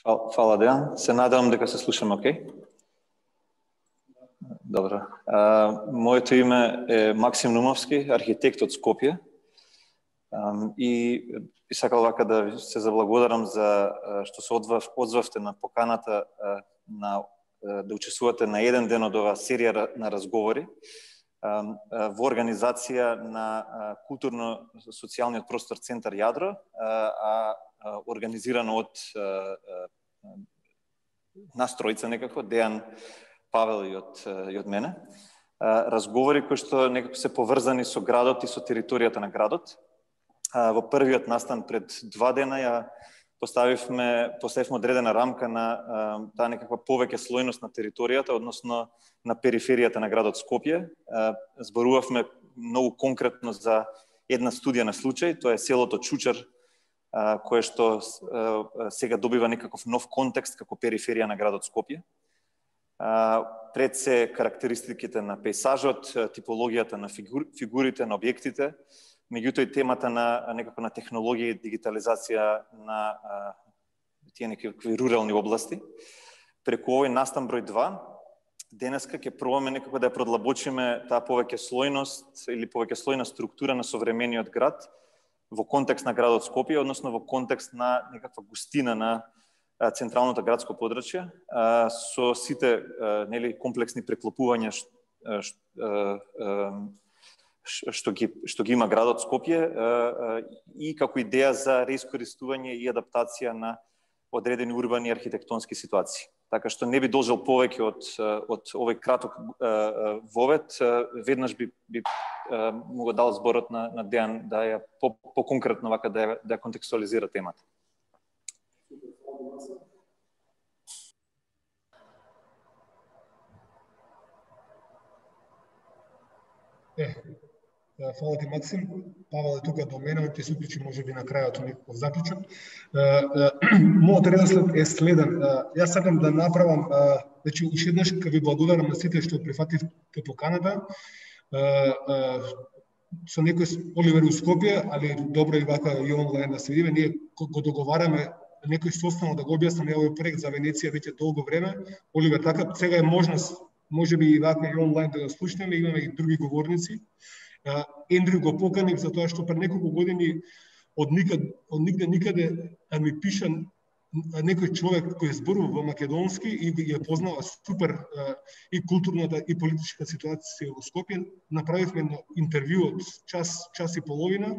Фала Дејан. Се надевам дека се слушаме окей. Добро. Моето име е Максим Нумовски, архитект од Скопје. И сакал вака да се заблагодарам за што се одзвавте на поканата да учествувате на еден ден од оваа серија на разговори во организација на културно-социјалниот простор Центар Јадро, организирано од нас тројца некако, Дејан, Павел и од мене. Разговори кои што некако се поврзани со градот и со територијата на градот. Во првиот настан пред 2 дена ја поставивме одредена рамка на таа некаква повеќе слојност на територијата, односно на периферијата на градот Скопје. Зборувавме многу конкретно за една студија на случај, тоа е селото Чучар, кое што сега добива некаков нов контекст како периферија на градот Скопје. Пред се карактеристиките на пейсажот, типологијата на фигурите, на објектите, меѓутоа и темата на некако на технологија и дигитализација на тие некакви рурални области. Преку овој настан број 2, денеска ќе пробаме некако да ја продлабочиме таа повеќе слојност или повеќе слојна структура на современиот град во контекст на градот Скопје, односно во контекст на некаква густина на централното градско подрачје, со сите комплексни преклопувања што ги има градот Скопје и како идеја за реискористување и адаптација на одредени урбани архитектонски ситуации. Така што не би должел повеќе од овој краток вовед, веднаш би му дал зборот на Дејан да ја по-конкретно вака да ја контекстуализира темата. Фала ти, Максим. Павел е тука до мене, ќе се уклучи можеби на крајот некој заклучок. Мојот реdosled е следен. Јас сакам да направам, значи уште еднаш ќе ви благодарам на сите што прифативте поканата. Со некој Оливер у Скопје, али добро и вака и онлайн да се видиме. Ние го договараме некој состанок да го објаснам овој проект за Венеција веќе долго време. Оливер, така сега е можност, можеби и вака и онлайн да го слушнеме, имаме и други говорници. Ендрю го поканив за тоа што пред неколку години од никаде ми пиша некој човек кој зборува во македонски и ја познава супер и културната и политичка ситуација во Скопје. Направивме едно интервју од час и половина.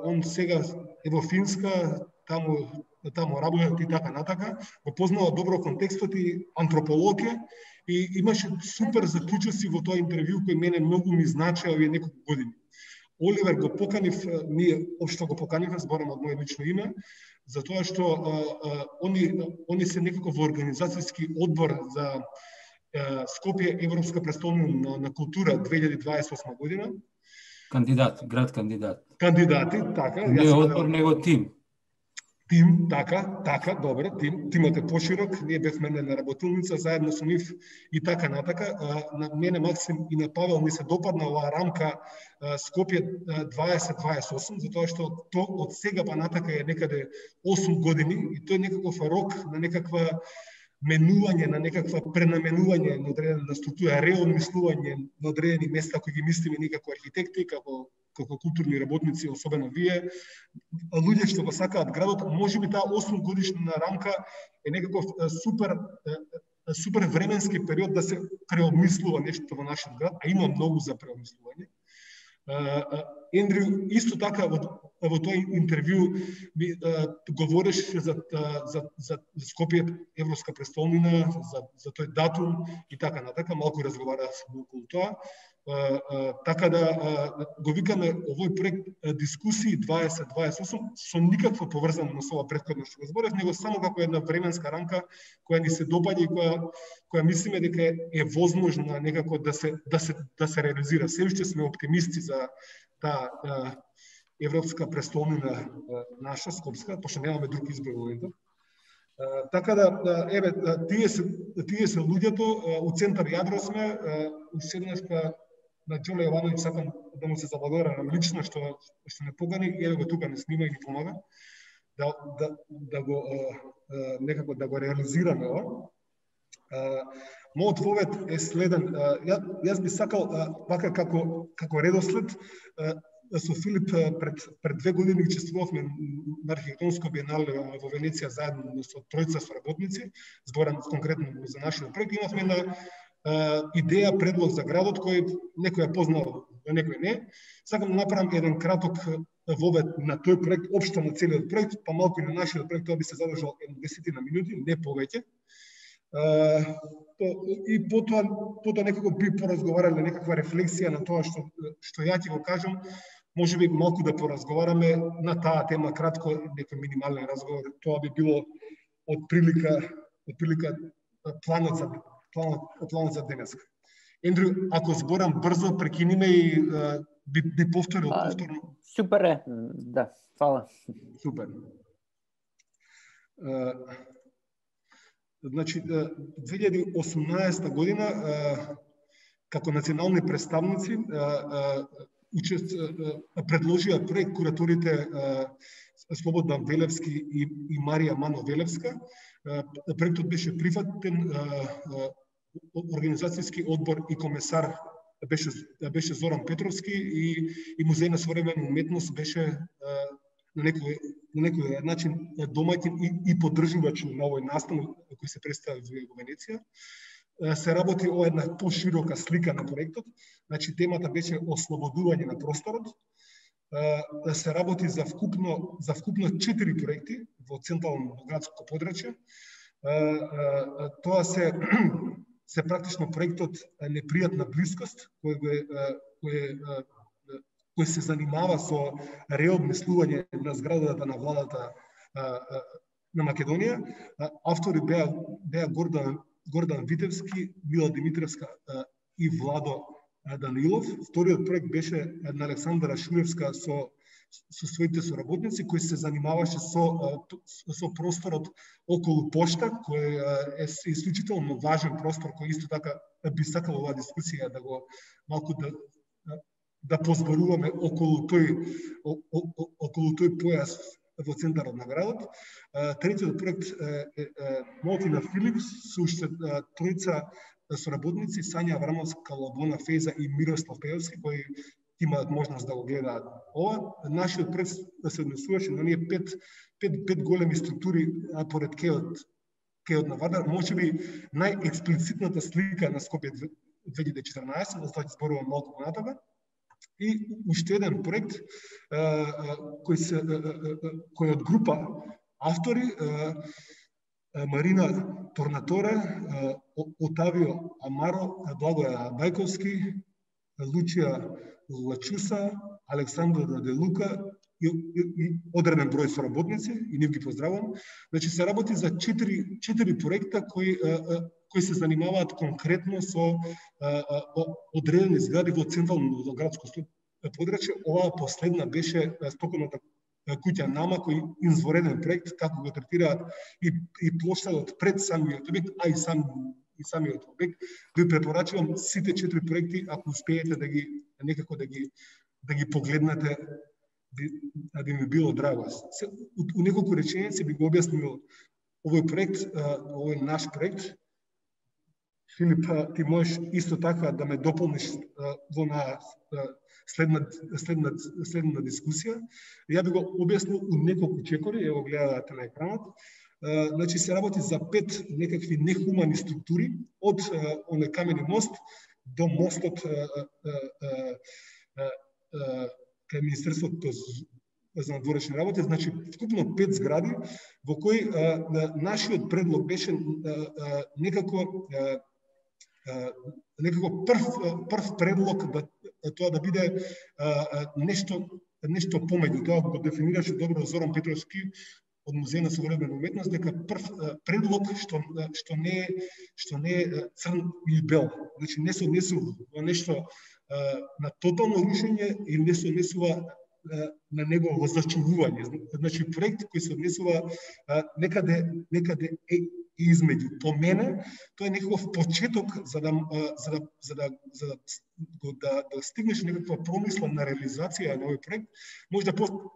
Он сега е во Финска, таму работи и така натака. Го познава добро контекстот и антрополог е. И имаше супер заклучоци во тоа интервју кој мене многу ми значеа овие неколку години. Оливер го поканив, ние општо го поканивме, зборам од моје лично име, затоа што они се некако во организацијски одбор за Скопје Европска престолнина на култура 2028 година. Град кандидат. Кандидати, така. Не одбор, него тим. Тим, така, добро, тимот е поширок, ние бевме на работилница заедно со нив и така натака. На мене, Максим и на Павел ми се допадна оваа рамка Скопје 2028, затоа што то од сега па натака е некаде 8 години и тој е некаков рок на некаква менување, на некаква пренаменување на одредена структура, реосмислување на одредени места кои ги мислиме ние како архитекти, како културни работници, особено вие, луѓе што го сакаат градот. Можеби таа 8 годишна рамка е некаков супер временски период да се преобмислува нешто во нашиот град, а има многу за преобмислување. Ендрю исто така во тој интервју говореше за Скопје Европска престолнина, за тој датум и така натака, малку разговаравме околу тоа. Така да го викаме овој проект дискусии 2028 со никаква поврзаност со ова претходно што го зборев, него само како една временска рамка која ни се допаѓа и која мислиме дека е возможна некако да се реализира. Се уште сме оптимисти за таа Европска престолнина наша, Скопска, пошто немаме друг избор во моментот. Така да, еве, тие се луѓето, у Центар Јадро сме, седнашка на Џоле Јовановиќ сакам да му се заблагодарам лично што не покани, еве го тука не снима и ни помага, да го некако да го реализираме ова. Мојот повет е следен. Јас би сакал вака како редослед со Филип пред 2 години учествувавме на архитектонско биенале во Венеција заедно со тројца соработници, зборам конкретно за нашиот проект. Имавме една идеја, предлог за градот кој некој ја познал, некој не. Сакам да направам еден краток вовед на тој проект, општо на целиот проект, па малку и на нашиот проект, тоа би се задржал 10 минути, не повеќе. И потоа некако би поразговарале некаква рефлексија на тоа што ја ќе го кажам, може би малку да поразговараме на таа тема кратко, некој минимален разговор. Тоа би било од прилика планот за денеска. Ендрю, ако зборам брзо, прекиниме и би повторил повторно. Супер е, да, фала. Супер. Значи, 2018 година, како национални представници, предложија проект кураторите Слободан Велевски и Марија Мано Велевска. Проектот беше прифатен, организацијски одбор и комесар беше Зоран Петровски и Музеј на современа уметност беше на некој начин домаќин и поддржувач на овој настан кој се представи во Венеција. Се работи о една поширока слика на проектот. Значи темата беше ослободување на просторот. Се работи за вкупно 4 проекти во централно градско подрачје. Тоа се практично проектот Непријатна блискост, кој се занимава со реобмислување на зградата на владата на Македонија. Автори беа Гордан Витевски, Мила Димитревска и Владо Данилов. Вториот проект беше на Александра Шулевска со своите соработници, кој се занимаваше со просторот околу пошта, кој е исклучително важен простор, кој исто така би сакал оваа дискусија да го малку да позборуваме околу тој појас во центарот на градот. Третиот проект е Молтина Филипс, со уште тројца соработници, Сања Аврамовска, Лабона Феза и Мирослав Пеевски, кои имаат можност да го гледаат ова. Нашиот проект се однесуваше на ние пет големи структури поред кеот на Вардар. Може би најексплицитната слика на Скопје 2014, да ќе зборувам малку понатаму. И уште еден проект кој од група автори Марина Торнаторе, Отавио Амаро, Благоја Бајковски, Лучија Лачуса, Александро Раделука и одреден број соработници, и нив ги поздравувам. Значи се работи за 4 проекта кои се занимаваат конкретно со одредени згради во централно градско подрачје. Оваа последна беше стоковната куќа Нама, кој извореден проект, како го третираат и плоштадот пред самиот објект, а и самиот објект. Ви препорачувам сите 4 проекти, ако успеете да ги некако да ги погледнете, да ми било драго. У неколку реченици би го објаснил овој проект, овој наш проект. Филип, ти можеш исто така да ме дополниш во на следна дискусија. Ја би го објаснил у неколку чекори, ево гледате на екранот. Значи се работи за 5 некакви нехумани структури, од оној камени мост до мостот кај Министерството за надворешни работи. Значи вкупно 5 згради во кои нашиот предлог беше некако прв предлог тоа да биде нешто помеѓу. Тоа го дефинираше добро Зоран Петровски од Музеј на современа уметност, дека прв предлог што не е црн или бел. Значи не се однесува нешто на тотално рушење или не се однесува на негово зачувување. Значи проект кој се однесува некаде измеѓу. По мене, тоа е некаков почеток за да стигнеш некаква промисла на реализација на овој проект, може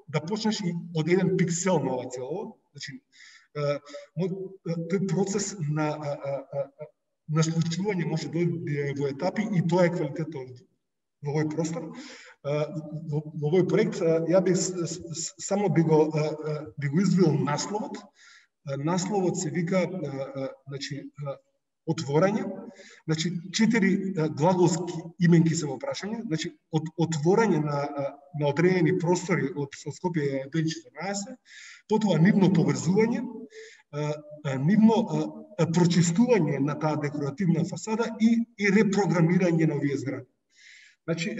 да почнеш и од еден пиксел на ова цело. Значи, тој процес на случување може да дојде во етапи и тоа е квалитетот во овој простор. Во овој проект ја би само би го извил насловот. Насловот се вика отворање. Значи 4 глаголски именки се во прашање. Значи отворање на одредени простори од Скопје 2014, потоа нивно поврзување, нивно прочистување на таа декоративна фасада и репрограмирање на овие згради. Значи,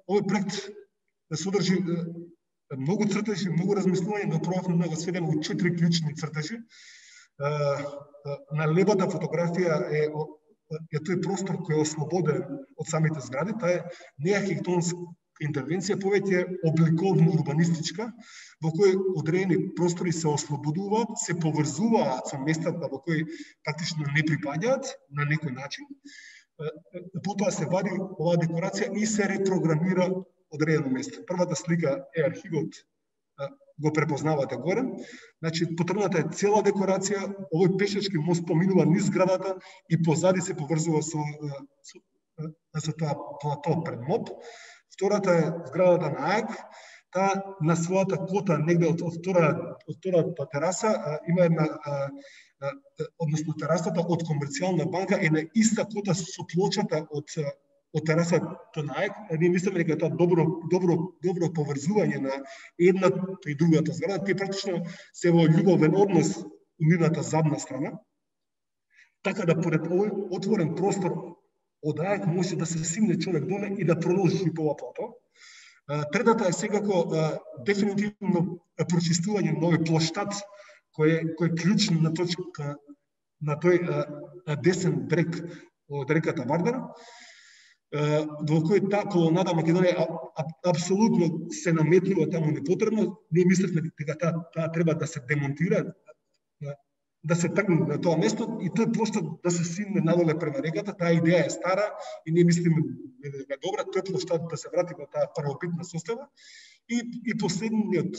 овој проект содржи многу цртежи, многу размислување, но пробавме да го сведеме во 4 клучни цртежи. На левата фотографија е тој простор кој е ослободен од самите згради. Таа е не архитектонска интервенција, повеќе обликовно-урбанистичка, во кој одредени простори се ослободуваат, се поврзуваат со местата во кои практично не припаѓаат на некој начин. Потоа се вади оваа декорација и се репрограмира одредено место. Првата слика е архивот, го препознавате горе. Значи, потргната е цела декорација, овој пешачки мост поминува низ зградата и позади се поврзува со тоа плато пред МОП. Втората е зградата на АЕК. Таа на својата кота негде од втората тераса има една, односно терасата од комерцијална банка е на иста кота со плочата од терасата на АЕК. Ние мислиме дека тоа добро поврзување на едната и другата зграда. Тие практично се во љубовен однос у нивната задна страна. Така да поред овој отворен простор од АЕК може да се симне човек доле и да продолжи по ова плато. Третата е секако дефинитивно прочистување на овој плоштад кој е клучна точка на тој десен брег од реката Вардар, во кој таа колонада Македонија апсолутно се наметнува таму непотребно. Ние мислевме дека таа треба да се демонтира, да се тргне на тоа место и тој плоштад да се симне надоле према реката. Таа идеја е стара и ние мислиме дека добра тој плоштад да се врати во таа првобитна состава. И последниот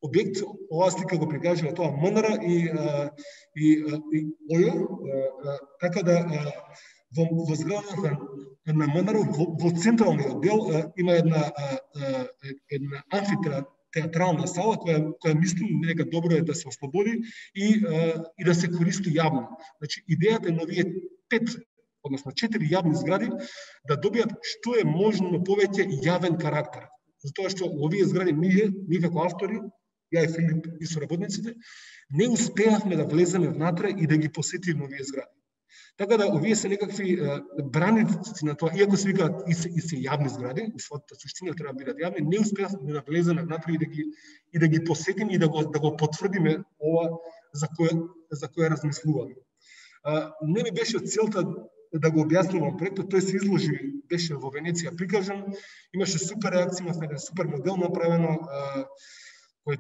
објект, оваа слика го прикажува тоа МНР и ОЈО, така да во зградата на МНР во централниот дел има една амфитеатрална сала која мислим дека добро е да се ослободи и да се користи јавно. Значи идејата е на овие 5, односно 4 јавни згради да добијат што е можно повеќе јавен карактер. Затоа што овие згради ние како автори, ја и Филип и соработниците, не успеавме да влеземе внатре и да ги посетиме овие згради. Така да овие се некакви браници на тоа, иако се викаат и се јавни згради, и својата суштина треба да бидат јавни, не успеавме да влеземе внатре и да ги посетиме и да го потврдиме ова за кое размислуваме. Не ми беше целта да го објаснувам проектот, тој се изложи, беше во Венеција прикажан, имаше супер реакција, имавме еден супер модел направено, кој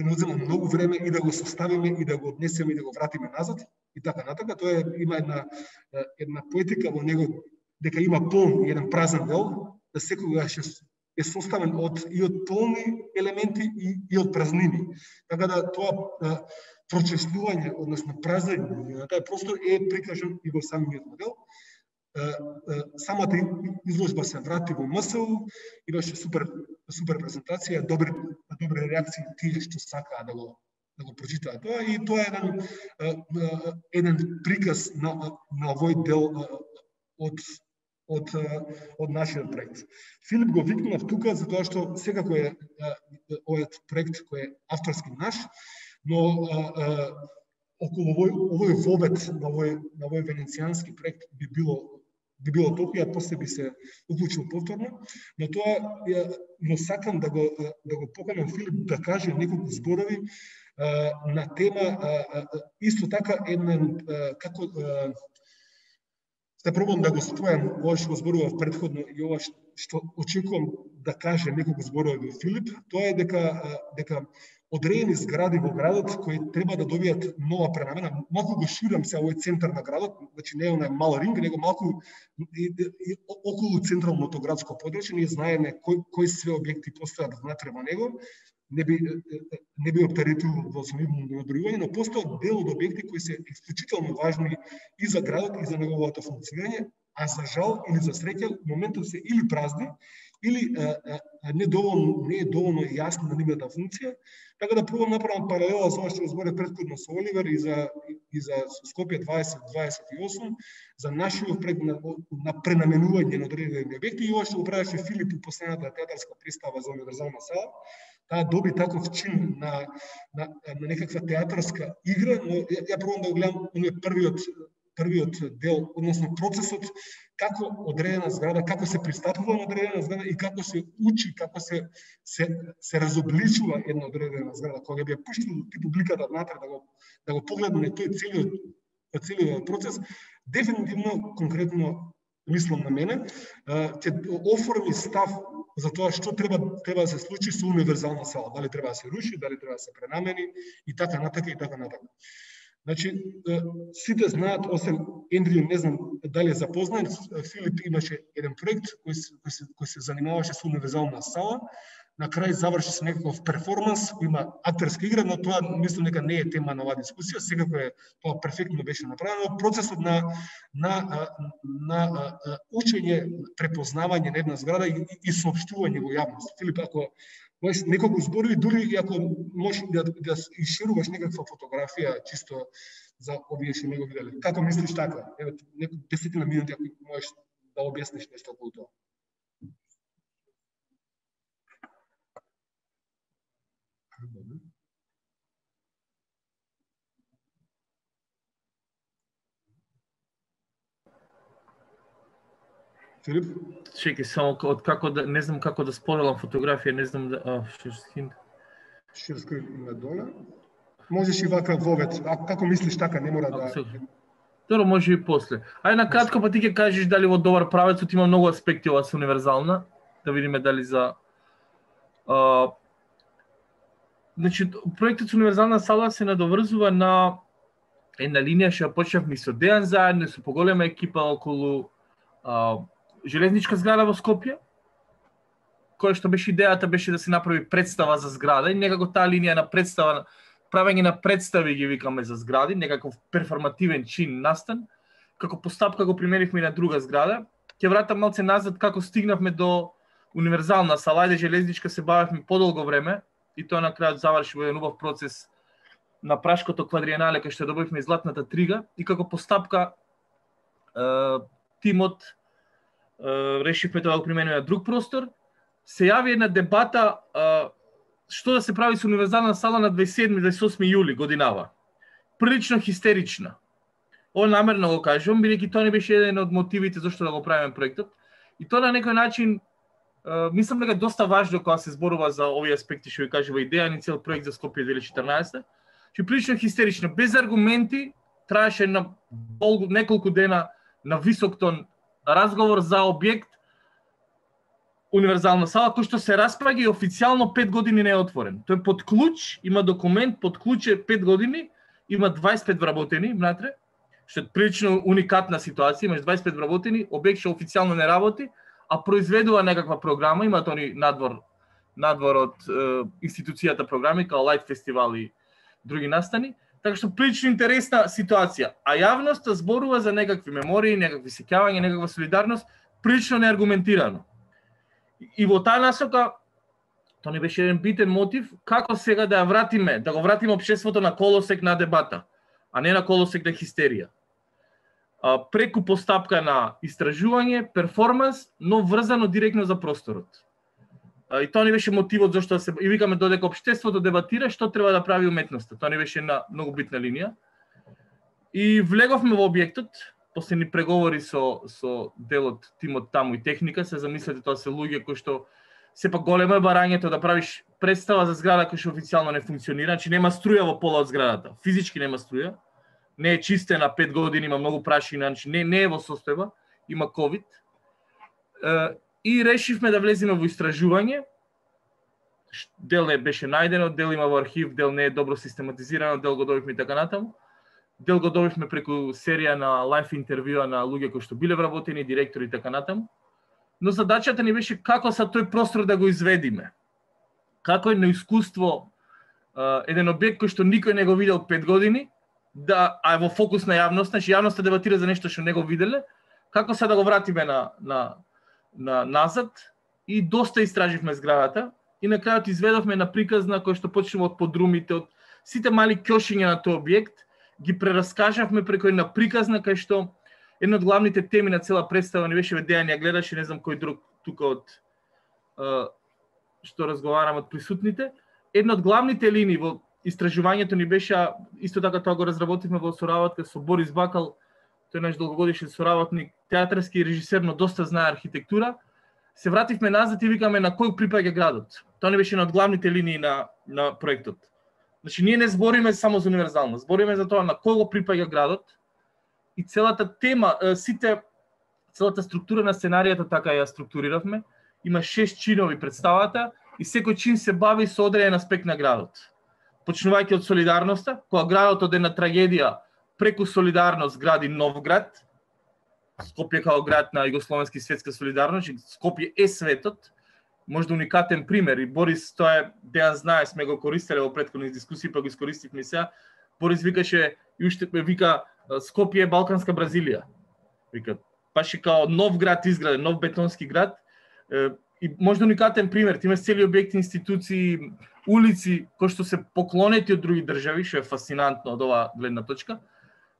не одзема многу време и да го составиме и да го однесеме и да го вратиме назад и така натака. Тоа има една поетика во него дека има полн и еден празен дел, да секогаш е составен и од полни елементи и од празнини. Така да тоа прочестување, односно празење на тај простор е прикажан и во самиот модел. Самата изложба се врати во МСУ, имаше супер презентација, добри реакции тие што сакаа да го прочитаат тоа и тоа е еден приказ на овој дел од нашиот проект. Филип го викнав тука затоа што секако е овој проект кој е авторски наш, но околу овој вовет на овој венецијански проект би било толку, ја после би се уклучил повторно, но сакам да го поканам Филип да каже неколку зборови на тема исто така како да пробам да го спојам ова што го зборував претходно и ова што очекувам да каже неколку зборови Филип, тоа е дека одредени згради во градот кои треба да добијат нова пренамена. Малку го ширам се овој центар на градот, значи не е онај мал ринг, него малку околу централното градско подрачје. Ние знаеме кои све објекти постојат внатре во него. Не би оптеретувал во самивно набројување, но постојат дел од објекти кои се исклучително важни и за градот и за неговото функционирање, а за жал или за среќа моментот се или празни, или не е доволно јасна на нивната функција. Така да пробам направам паралела со ова што зборев претходно со Оливер и за Скопје 2028, за нашиот проект на пренаменување на одредени објекти и ова што го правеше Филип и последната театарска представа за универзална сала. Таа доби таков чин на некаква театарска игра, но ја пробам да го гледам првиот дел, односно процесот, како одредена зграда, како се пристапува на одредена зграда и како се учи, како се разобличува една одредена зграда. Кога би ја пуштил публиката внатре да го погледне тој целиот процес, дефинитивно, конкретно мислам на мене, ќе оформи став за тоа што треба да се случи со универзална сала. Дали треба да се руши, дали треба да се пренамени и така натака и така натака. Значи, сите знаат, освен Ендрю, не знам дали е запознат, Филип имаше еден проект кој се занимаваше со универзална сала. На крај заврши се некаков перформанс, има актерска игра, но тоа мислам дека не е тема на оваа дискусија, секако тоа перфектно беше направено. Процесот на учење, препознавање на една зграда и соопштување во јавност. Филип, ако можеш неколку зборови, дури и ако можеш да ишируваш некаква фотографија чисто за овие што не го виделе. Како мислиш така? Еве, неколку 10 минути ако можеш да објасниш нешто околу тоа. Филип? Чекай, само од како да не знам како да споделам фотографија, не знам да Share screen има доле. Можеш и вака вовет. А како мислиш така, не мора да. Добро, може и после. Ај на кратко па ти ќе кажеш дали во добар правецот има многу аспекти ова со универзална, да видиме дали за значи проектот со универзална сала се надоврзува на една линија што почнавме со Дејан заедно со поголема екипа околу железничка зграда во Скопје, која што беше идејата беше да се направи представа за зграда и некако таа линија на представа, правење на представи ги викаме за згради, некаков перформативен чин настан, како постапка го применивме и на друга зграда. Ќе вратам малце назад како стигнавме до универзална сала, ајде железничка се бавевме подолго време и тоа на крајот заврши во еден убав процес на Прашкото квадриенале кај што добивме златната трига и како постапка тимот решивме тоа да го примениме на друг простор. Се јави една дебата што да се прави со универзална сала на 27-28 јули годинава. Прилично хистерична. Ова намерно го кажувам, бидејќи тоа не беше еден од мотивите зашто да го правиме проектот. И тоа на некој начин мислам дека доста важно кога се зборува за овие аспекти што ви кажува идеја ни цел проект за Скопје 2014. Што прилично хистерично, без аргументи, траеше на неколку дена на висок тон разговор за објект универзална сала, кој што се распраѓа и официјално 5 години не е отворен. Тој под клуч, има документ, под клуч е 5 години, има 25 вработени внатре, што е прилично уникатна ситуација, имаш 25 вработени, објект што официјално не работи, а произведува некаква програма, имаат они надвор од институцијата програми, као Лайт фестивал и други настани, така што прилично интересна ситуација. А јавноста зборува за некакви мемории, некакви сеќавања, некаква солидарност, прилично неаргументирано. И во таа насока, тоа не беше еден битен мотив, како сега да ја вратиме, да го вратиме општеството на колосек на дебата, а не на колосек на хистерија. Преку постапка на истражување, перформанс, но врзано директно за просторот. И тоа не беше мотивот зашто се и викаме додека општеството дебатира што треба да прави уметноста. Тоа не беше една многу битна линија. И влеговме во објектот, после ни преговори со делот, тимот таму и техника, се замислете тоа се луѓе кои што сепак големо е барањето да правиш представа за зграда која што официјално не функционира, значи нема струја во пола од зградата, физички нема струја, не е чистена 5 години, има многу прашина, значи не е во состојба, има ковид. И решивме да влеземе во истражување. дел не беше најдено, дел има во архив, дел не е добро систематизирано, дел го добивме и така натаму. Дел го добивме преку серија на лайф интервјуа на луѓе кои што биле вработени, директори и така натаму. Но задачата ни беше како са тој простор да го изведиме. Како е на искуство еден објект кој што никој не го видел 5 години, да е во фокус на јавност, значи јавноста дебатира за нешто што не го виделе, како са да го вратиме на назад, и доста истраживме зградата и на крајот изведовме на приказна кој што почнува од подрумите, од сите мали ќошиња на тој објект, ги прераскажавме преку една приказна кај што една од главните теми на цела представа не беше Дејан ја гледаше, не знам кој друг тука од што разговарам од присутните. Една од главните линии во истражувањето ни беше, исто така тоа го разработивме во соработка со Борис Бакал, тој наш долгогодишен соработник, театарски режисер, но доста знае архитектура. Се вративме назад и викаме на кој припаѓа градот. Тоа не беше една од главните линии на проектот. Значи, ние не збориме само за универзалност, збориме за тоа на кој го припаѓа градот и целата тема, целата структура на сценаријата така ја структуриравме. Има 6 чинови представата и секој чин се бави со одреден аспект на градот. Почнувајќи од солидарноста, кога градот од една трагедија преку солидарност гради нов град, Скопје као град на југословенски светска солидарност, Скопје е светот, можда уникатен пример, и Борис, тоа е, Дејан знае, сме го користеле во претходни дискусии, па го искористивме и сега. Борис викаше, и уште вика, Скопје е Балканска Бразилија. Вика, баш и као нов град изграден, нов бетонски град, и можда уникатен пример, ти имаш цели објекти, институции, улици, кои што се поклонети од други држави, што е фасцинантно од оваа гледна точка,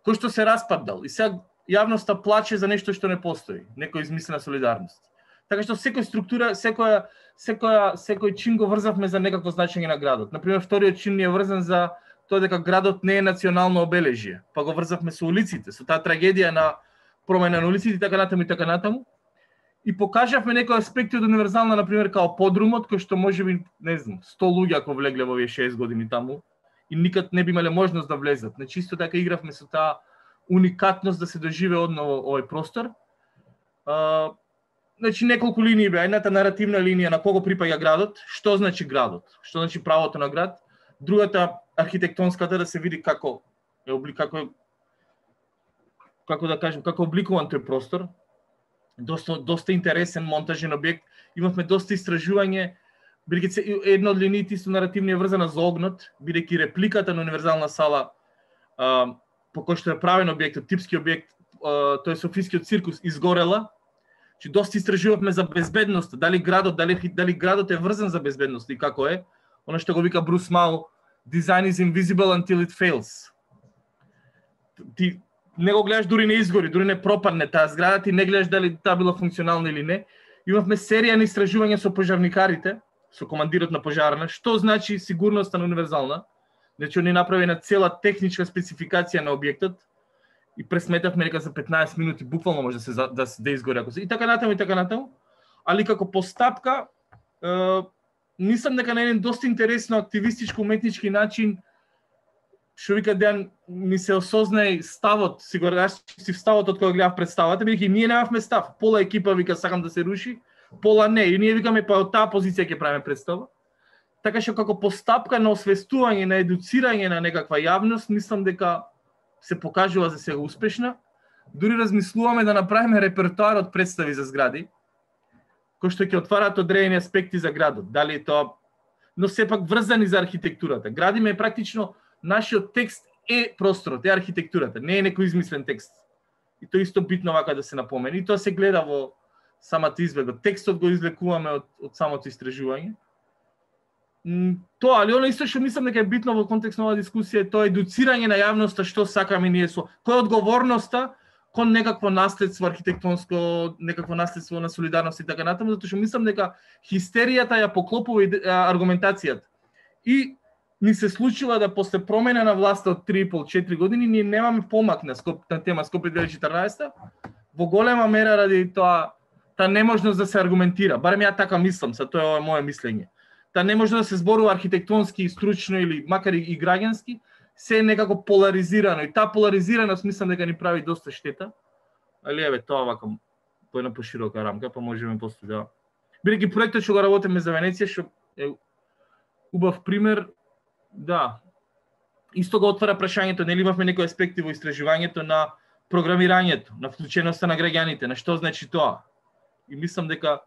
кој што се распадал. И сега јавноста плаче за нешто што не постои, некој измислена солидарност. Така што секој структура, секој чин го врзавме за некакво значење на градот. Например, вториот чин ни е врзан за тоа дека градот не е национално обележје, па го врзавме со улиците, со таа трагедија на промена на улиците и така натаму. И покажавме некои аспекти од универзална, например, као подрумот, кој што можеби, не знам, 100 луѓе ако влегле во овие 6 години таму и никад не би имале можност да влезат. Значи, исто така игравме со таа уникатност да се доживе одново овој простор. Значи, неколку линии беа. Едната наративна линија на кого припаѓа градот, што значи градот, што значи правото на град. Другата, архитектонската, да се види како да кажем, како обликуван тој простор. Доста интересен монтажен објект. Имавме доста истражување, бидејќи една од линиите исто наративни е врзана за огнот, бидејќи репликата на универзална сала по кој што е правен објектот, типски објект, тој Софискиот циркус изгорела. Че доста истражувавме за безбедност, дали градот е врзан за безбедност и како е. Оно што го вика Брус Мау, design is invisible until it fails. Ти не го гледаш дури не изгори, дури не пропадне таа зграда, ти не гледаш дали таа била функционална или не. Имавме серија на истражувања со пожарникарите, со командирот на пожарна, што значи сигурноста на универзална. Значи, они направи една цела техничка спецификација на објектот и пресметавме дека за 15 минути буквално може да изгори ако се. И така натаму. Али како постапка, мислам дека на еден доста интересно активистичко уметнички начин, што вика Дејан, ми се осознај ставот, си ставот од кога гледав представата, бидејќи ние немавме став. Пола екипа вика сакам да се руши, пола не. И ние викаме па од таа позиција ќе правиме представа. Така што како постапка на освестување, на едуцирање на некаква јавност, мислам дека се покажува за сега успешна. Дури размислуваме да направиме репертоар од представи за згради, кои што ќе отварат одредени аспекти за градот. Дали е тоа, но сепак врзани за архитектурата. Градиме практично нашиот текст е просторот, е архитектурата, не е некој измислен текст. И тоа исто битно вака да се напомени. И тоа се гледа во самата изведба. Текстот го излекуваме од самото истражување. Тоа, али оно исто што мислам дека е битно во контекст на оваа дискусија е тоа едуцирање на јавноста што сакаме ние со која е одговорноста кон некакво наследство архитектонско, некакво наследство на солидарност и така натаму, затоа што мислам дека хистеријата ја поклопува аргументацијата. И ни се случува да после промена на власта од 3,5-4 години ние немаме помак на тема Скопје 2014 во голема мера ради тоа та неможност да се аргументира. Барем ја така мислам, са тоа е моје мислење. Та не може да се зборува архитектонски, стручно или макар и граѓански, се е некако поларизирано. И таа поларизираност мислам дека ни прави доста штета. Али еве, тоа вака по една поширока рамка, па можеме после да... Бидејќи проектот што го работиме за Венеција, што е убав пример, да. Исто го отвара прашањето, нели имавме некои аспекти во истражувањето на програмирањето, на вклученоста на граѓаните, на што значи тоа. И мислам дека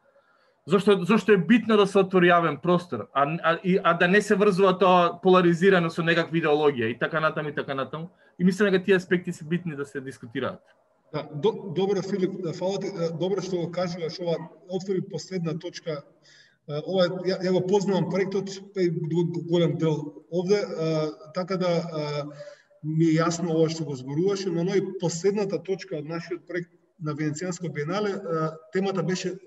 зошто е битно да се отвори јавен простор, а да не се врзува тоа поларизирано со некаква идеологија и така натаму и така натаму. И мислам дека тие аспекти се битни да се дискутираат. Да, добро Филип, фала ти, добро што го кажуваш, ова отвори последна точка. Ова ја го познавам проектот, голем дел овде, така да ми е јасно ова што го зборуваше, но последната точка од нашиот проект на Венецијанско биенале, темата беше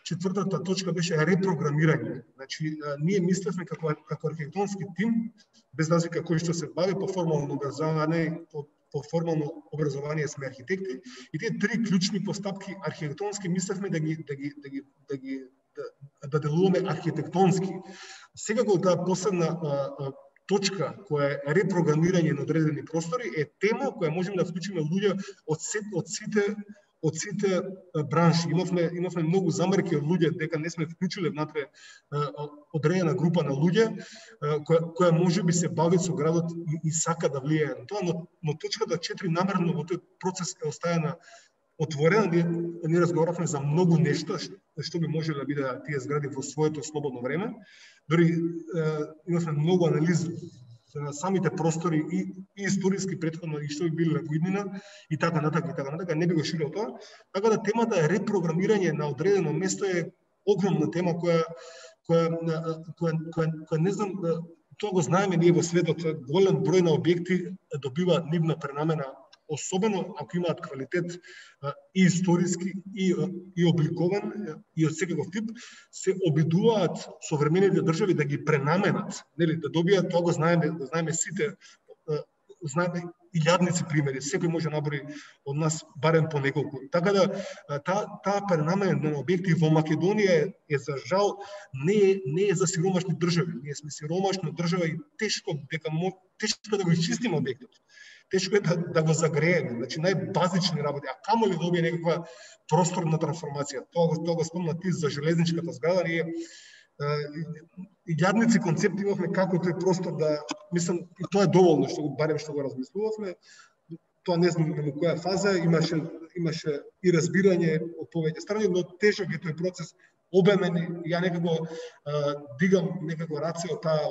четвртата точка беше репрограмирање. Значи, ние мислевме како архитектонски тим, без разлика кој што се бави по формално образование, по формално образование сме архитекти, и тие три клучни постапки архитектонски мислевме да делуваме архитектонски. Секако таа последна точка која е репрограмирање на одредени простори е тема која можеме да вклучиме луѓе од сите бранши. Имавме многу замерки од луѓе дека не сме вклучиле внатре одредена група на луѓе која можеби се бави со градот и сака да влијае на тоа, но точката 4 намерно во тој процес е оставена отворена. Ние разговаравме за многу нешта што би можеле да бидат тие згради во своето слободно време. Дори имавме многу анализи на самите простори и историски претходно и што би биле во иднина и така натака, не би го ширил тоа. Така да темата е репрограмирање на одредено место е огромна тема која не знам, тоа го знаеме ние во светот, голем број на објекти добива нивна пренамена, особено ако имаат квалитет и историски и обликован и од секаков тип, се обидуваат современите држави да ги пренаменат, нели, да добијат, тоа го знаеме сите, знаеме илјадници примери, секој може наброи од нас барем по неколку. Така да таа пренамена на објекти во Македонија е за жал не е за сиромашни држави. Ние сме сиромашна држава и тешко да го изчистиме објектот. Тешко е да го загрееме, значи најбазични работи, а камо ли добие некаква просторна трансформација. Тоа го спомна ти за железничката зграда, ние илјадници концепти имавме како тој простор да, мислам, и тоа е доволно барем што го размислувавме. Тоа не знам на која фаза, имаше и разбирање од повеќе страни, но тежок е тој процес, обемен. Ја некако дигам некако раце од таа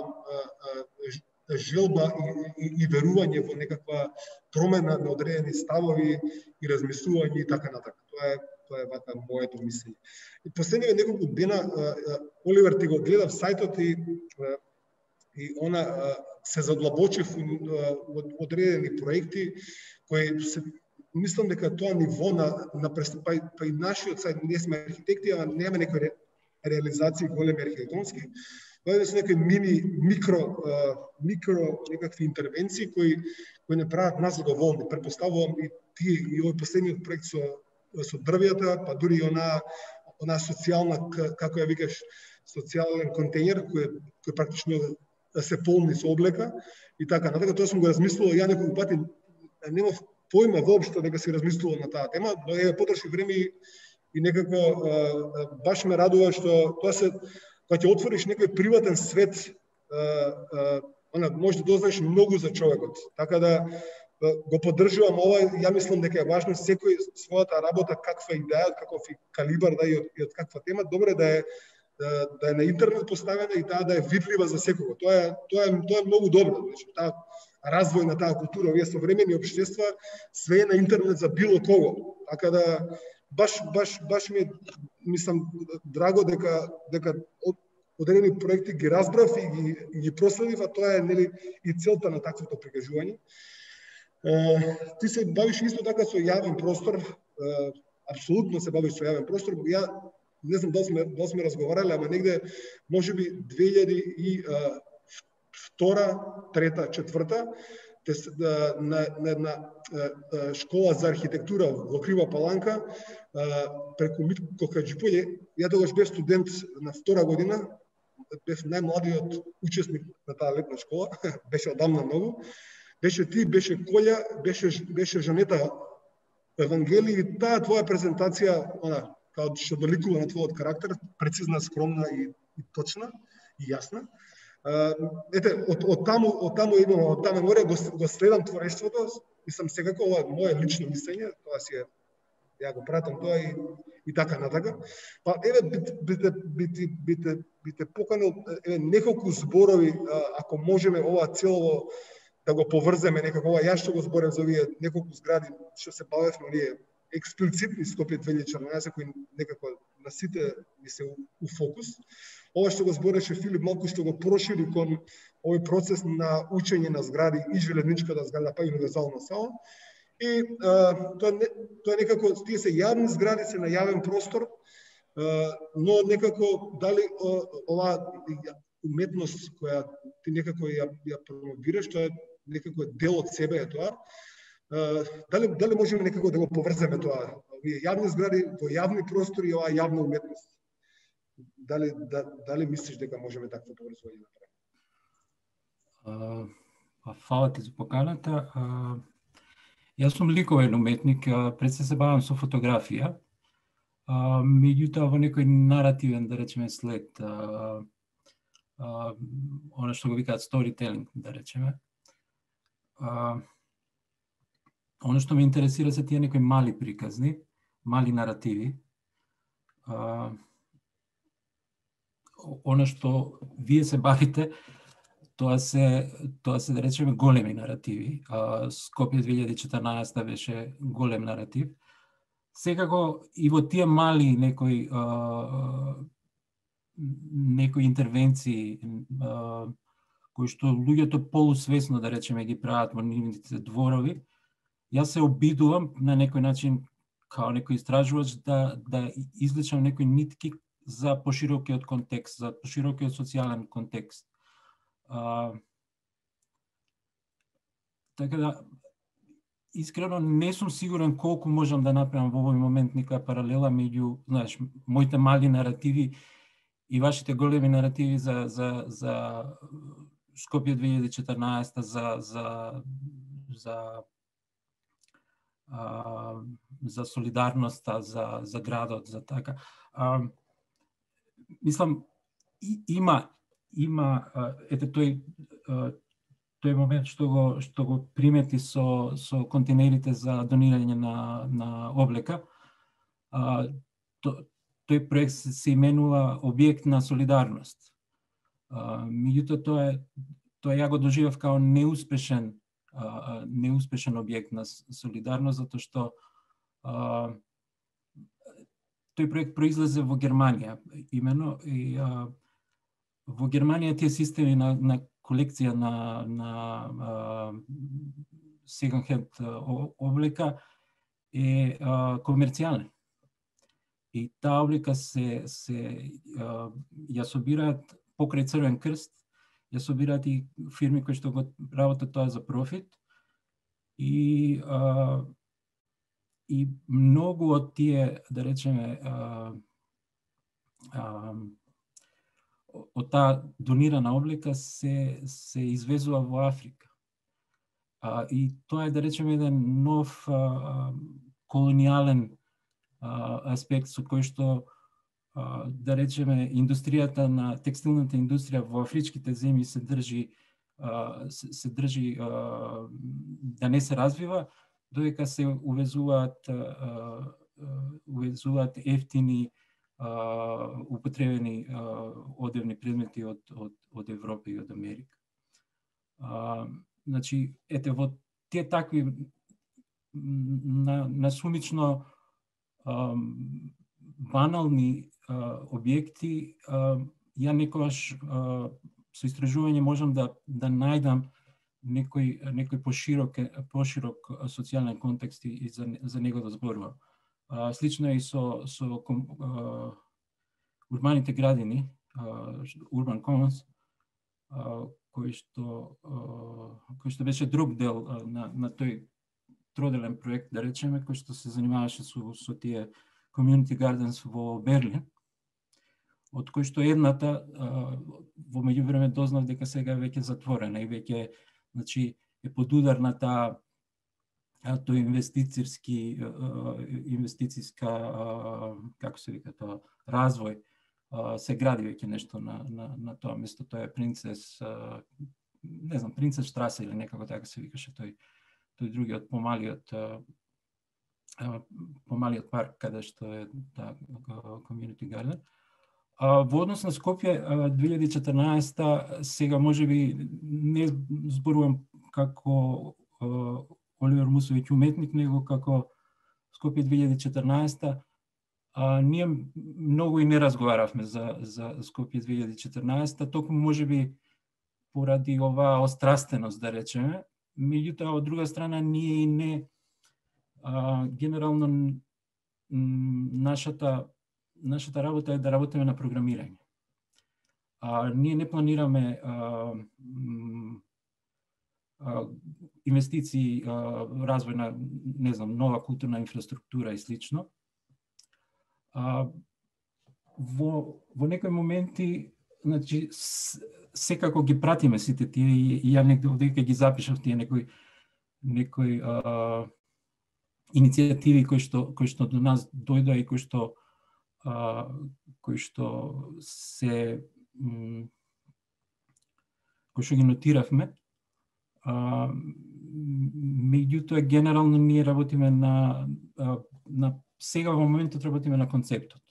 желба и верување во некаква промена на одредени ставови и размислување и така натака. Тоа е вака моето мислење. И последниве неколку дена Оливер ти го гледав сајтот и она се задлабочив од одредени проекти кои се, мислам дека тоа ниво на пристапај, па и нашиот сајт, ние сме архитекти, а немаме некои реализации големи архитектонски. Тоа се некои микро некакви интервенции кои не прават нас задоволни. Претпоставувам и тие и овој последниот проект со дрвјата, па дури и она социјална, како ја викаш, социјален контејнер кој практично се полни со облека и така натака. Тоа сум го размислувал ја неколку пати, немав појма воопшто дека се размислувал на таа тема, но потроши време и некако баш ме радува што тоа се, кога ќе отвориш некој приватен свет, може да дознаеш многу за човекот. Така да го поддржувам ова, ја мислам дека е важно секој својата работа, каква идеја, каков калибар да и од каква тема, добро е да е на интернет поставена и таа да е видлива за секого. Тоа е многу добро. Значи, таа развој на таа култура, овие современи општества, све е на интернет за било кого. Така да баш ми мислам драго дека одредени проекти ги разбрав и ги проследив, а тоа е нели и целта на таквото прикажување. Ти се бавиш исто така со јавен простор, апсолутно се бавиш со јавен простор. Ја не знам дали сме разговарале, ама негде можеби 2002, 2003, 2004 на една школа за архитектура во Крива Паланка преку Митко Хаџипоје. Ја тогаш бев студент на втора година, бев најмладиот учесник на таа летна школа, беше одамна многу. Беше ти, беше Колја, беше Жанета Евангели и таа твоја презентација, као што доликува на твојот карактер, прецизна, скромна и точна и јасна. Ете, од таму имам, од таму горе го следам творештвото, мислам секако ова е мое лично мислење, тоа си е, ја го пратам тоа и така натака. Па еве бите поканил еве неколку зборови, ако можеме ова цело да го поврземе некако, ова јас што го зборев за овие неколку згради што се бавевме ние експлицитни Скопје 2014 кои некако на сите ни се у фокус. Ова што го збореше Филип малку што го прошири кон овој процес на учење на згради и железничката зграда па и универзална сала. И тоа некако тие се јавни згради, се на јавен простор, но некако дали ова уметност која ти некако ја промовираш, тоа некако дел од себе е тоа. Дали можеме некако да го поврземе тоа, овие јавни згради во јавни простори и оваа јавна уметност? Дали мислиш дека можеме такво поврзување да направиме? Фала ти за поканата. Јас сум ликовен уметник, пред се бавам со фотографија, меѓутоа во некој наративен, да речеме, след, она што го викаат storytelling, да речеме. Оно што ме интересира се тие некои мали приказни, мали наративи. Оно што вие се бавите, тоа се да речеме големи наративи. Скопје 2014 беше голем наратив. Секако и во тие мали некои интервенции кои што луѓето полусвесно, да речеме, ги прават во нивните дворови, јас се обидувам на некој начин као некој истражувач да извлечам некои нитки за поширокиот контекст, за поширокиот социјален контекст. Така да, искрено не сум сигурен колку можам да направам во овој момент некоја паралела меѓу, знаеш, моите мали наративи и вашите големи наративи за Скопје 2014, за солидарноста, за градот, за така. Мислам, има ете тој момент што го примети со контейнерите за донирање на облека. Тој проект се именува Објект на солидарност. Меѓутоа тоа ја го доживев као неуспешен објект на солидарност, затоа што тој проект произлезе во Германија, имено, и во Германија тие системи на колекција на second hand облека е комерцијален. И таа облека се ја собираат покрај Црвен крст, ја собираат и фирми кои што го работат тоа за профит. И многу од тие, да речеме, од таа донирана облека се извезува во Африка. И тоа е, да речеме, еден нов колонијален аспект со кој што, да речеме, индустријата на текстилната индустрија во афричките земји се држи да не се развива, додека се увезуваат ефтини употребени одевни предмети од Европа и од Америка. Значи, ете, во тие такви насумично банални објекти, ја некогаш со истражување можам да најдам некој поширок социјален контекст и за него да зборувам. Слично е и со урбаните градини, Urban Commons, кој што беше друг дел на тој троделен проект, да речеме, кој што се занимаваше со тие community gardens во Берлин, од кој што едната во меѓувреме дознав дека сега веќе затворена и веќе, значи, е под удар на тој инвестициска, како се вика тоа, развој се гради веќе нешто на тоа место. Тоа е Принцес, не знам, Принцес Штрасе или некако така се викаше тој другиот помалиот парк каде што е Community Garden. Во однос на Скопје 2014 сега можеби не зборувам како Оливер Мусовиќ уметник, него како Скопје 2014 ние многу и не разговаравме за Скопје 2014, токму можеби поради оваа острастеност, да речеме. Меѓутоа, од друга страна, ние и не генерално нашата работа е да работиме на програмирање. Ние не планираме инвестиции, развој на, не знам, нова културна инфраструктура и слично. Во некои моменти, значи, секако ги пратиме сите тие и ја некаде ги запишав тие некои иницијативи кои што до нас дојдоа и кои што ги нотиравме. Меѓутоа генерално ние работиме на сега во моментот работиме на концептот.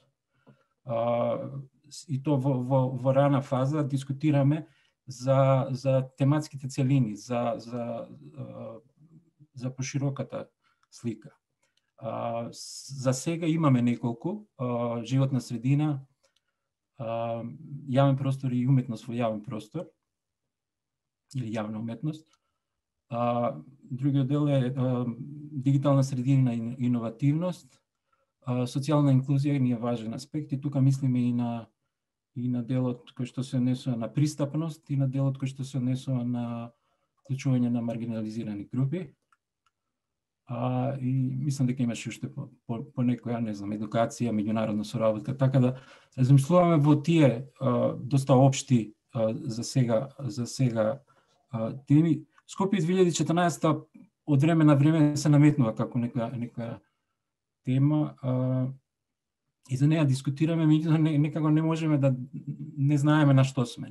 И то во рана фаза дискутираме за тематските целини, за пошироката слика. За сега имаме неколку: животна средина, јавен простор и уметност во јавен простор или јавна уметност. Другиот дел е дигитална средина и иновативност. Социјална инклузија ни е важен аспект и тука мислиме и на делот кој што се однесува на пристапност и на делот кој што се однесува на вклучување на маргинализирани групи. И мислам дека имаше уште по некоја, не знам, едукација, меѓународна соработка, така да размислуваме во тие доста општи за сега теми. Скопје 2014 од време на време се наметнува како нека тема и за неја дискутираме, меѓутоа некако не можеме да не знаеме на што сме.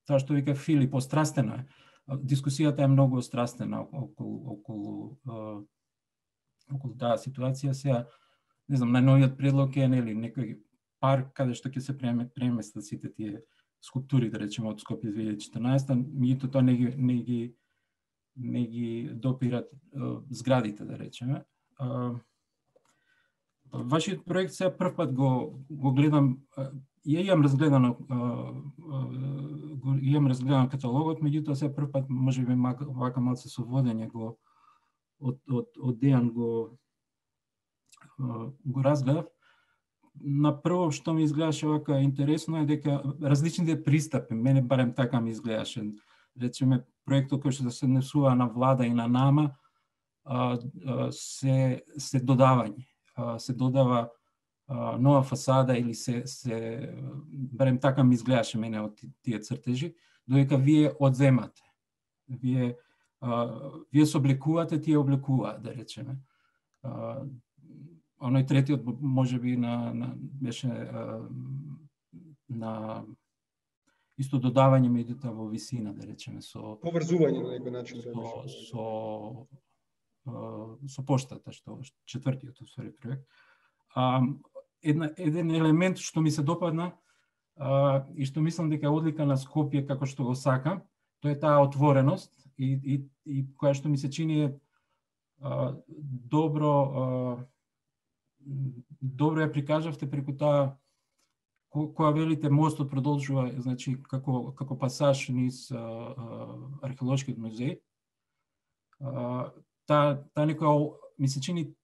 Тоа што вика Филип, острастено е. Дискусијата е многу острастена околу таа ситуација. Сега, не знам, најновиот предлог е некој парк каде што ќе се преместат сите тие скулптури, да речеме, од Скопје 2014, меѓутоа тоа не ги допират зградите, да речеме. Вашиот проект сега прв пат го гледам, имам разгледан каталогот, меѓутоа сега прв пат можеби вака малце со водење од Дејан го разгледав. На прво што ми изгледаше вака интересно е дека различните пристапи, мене барем така ми изгледаше, речеме проектот кој што се однесува на влада и на нама, се додавање, се додава нова фасада или се барем така ми изгледаше мене од тие цртежи, додека вие одземате. Вие се облекувате, тие облекуваат, да речеме. Оној третиот можеби беше на исто додавање меѓутоа во висина, да речеме, со поврзување на некој начин со поштата, што четвртиот усвари проект. Еден елемент што ми се допадна и што мислам дека е одлика на Скопје како што го сакам, тоа е таа отвореност и која што ми се чини е добро ја прикажавте преку таа која велите мостот продолжува, значи како пасаж низ археолошкиот музеј. Таа некоја ми се чини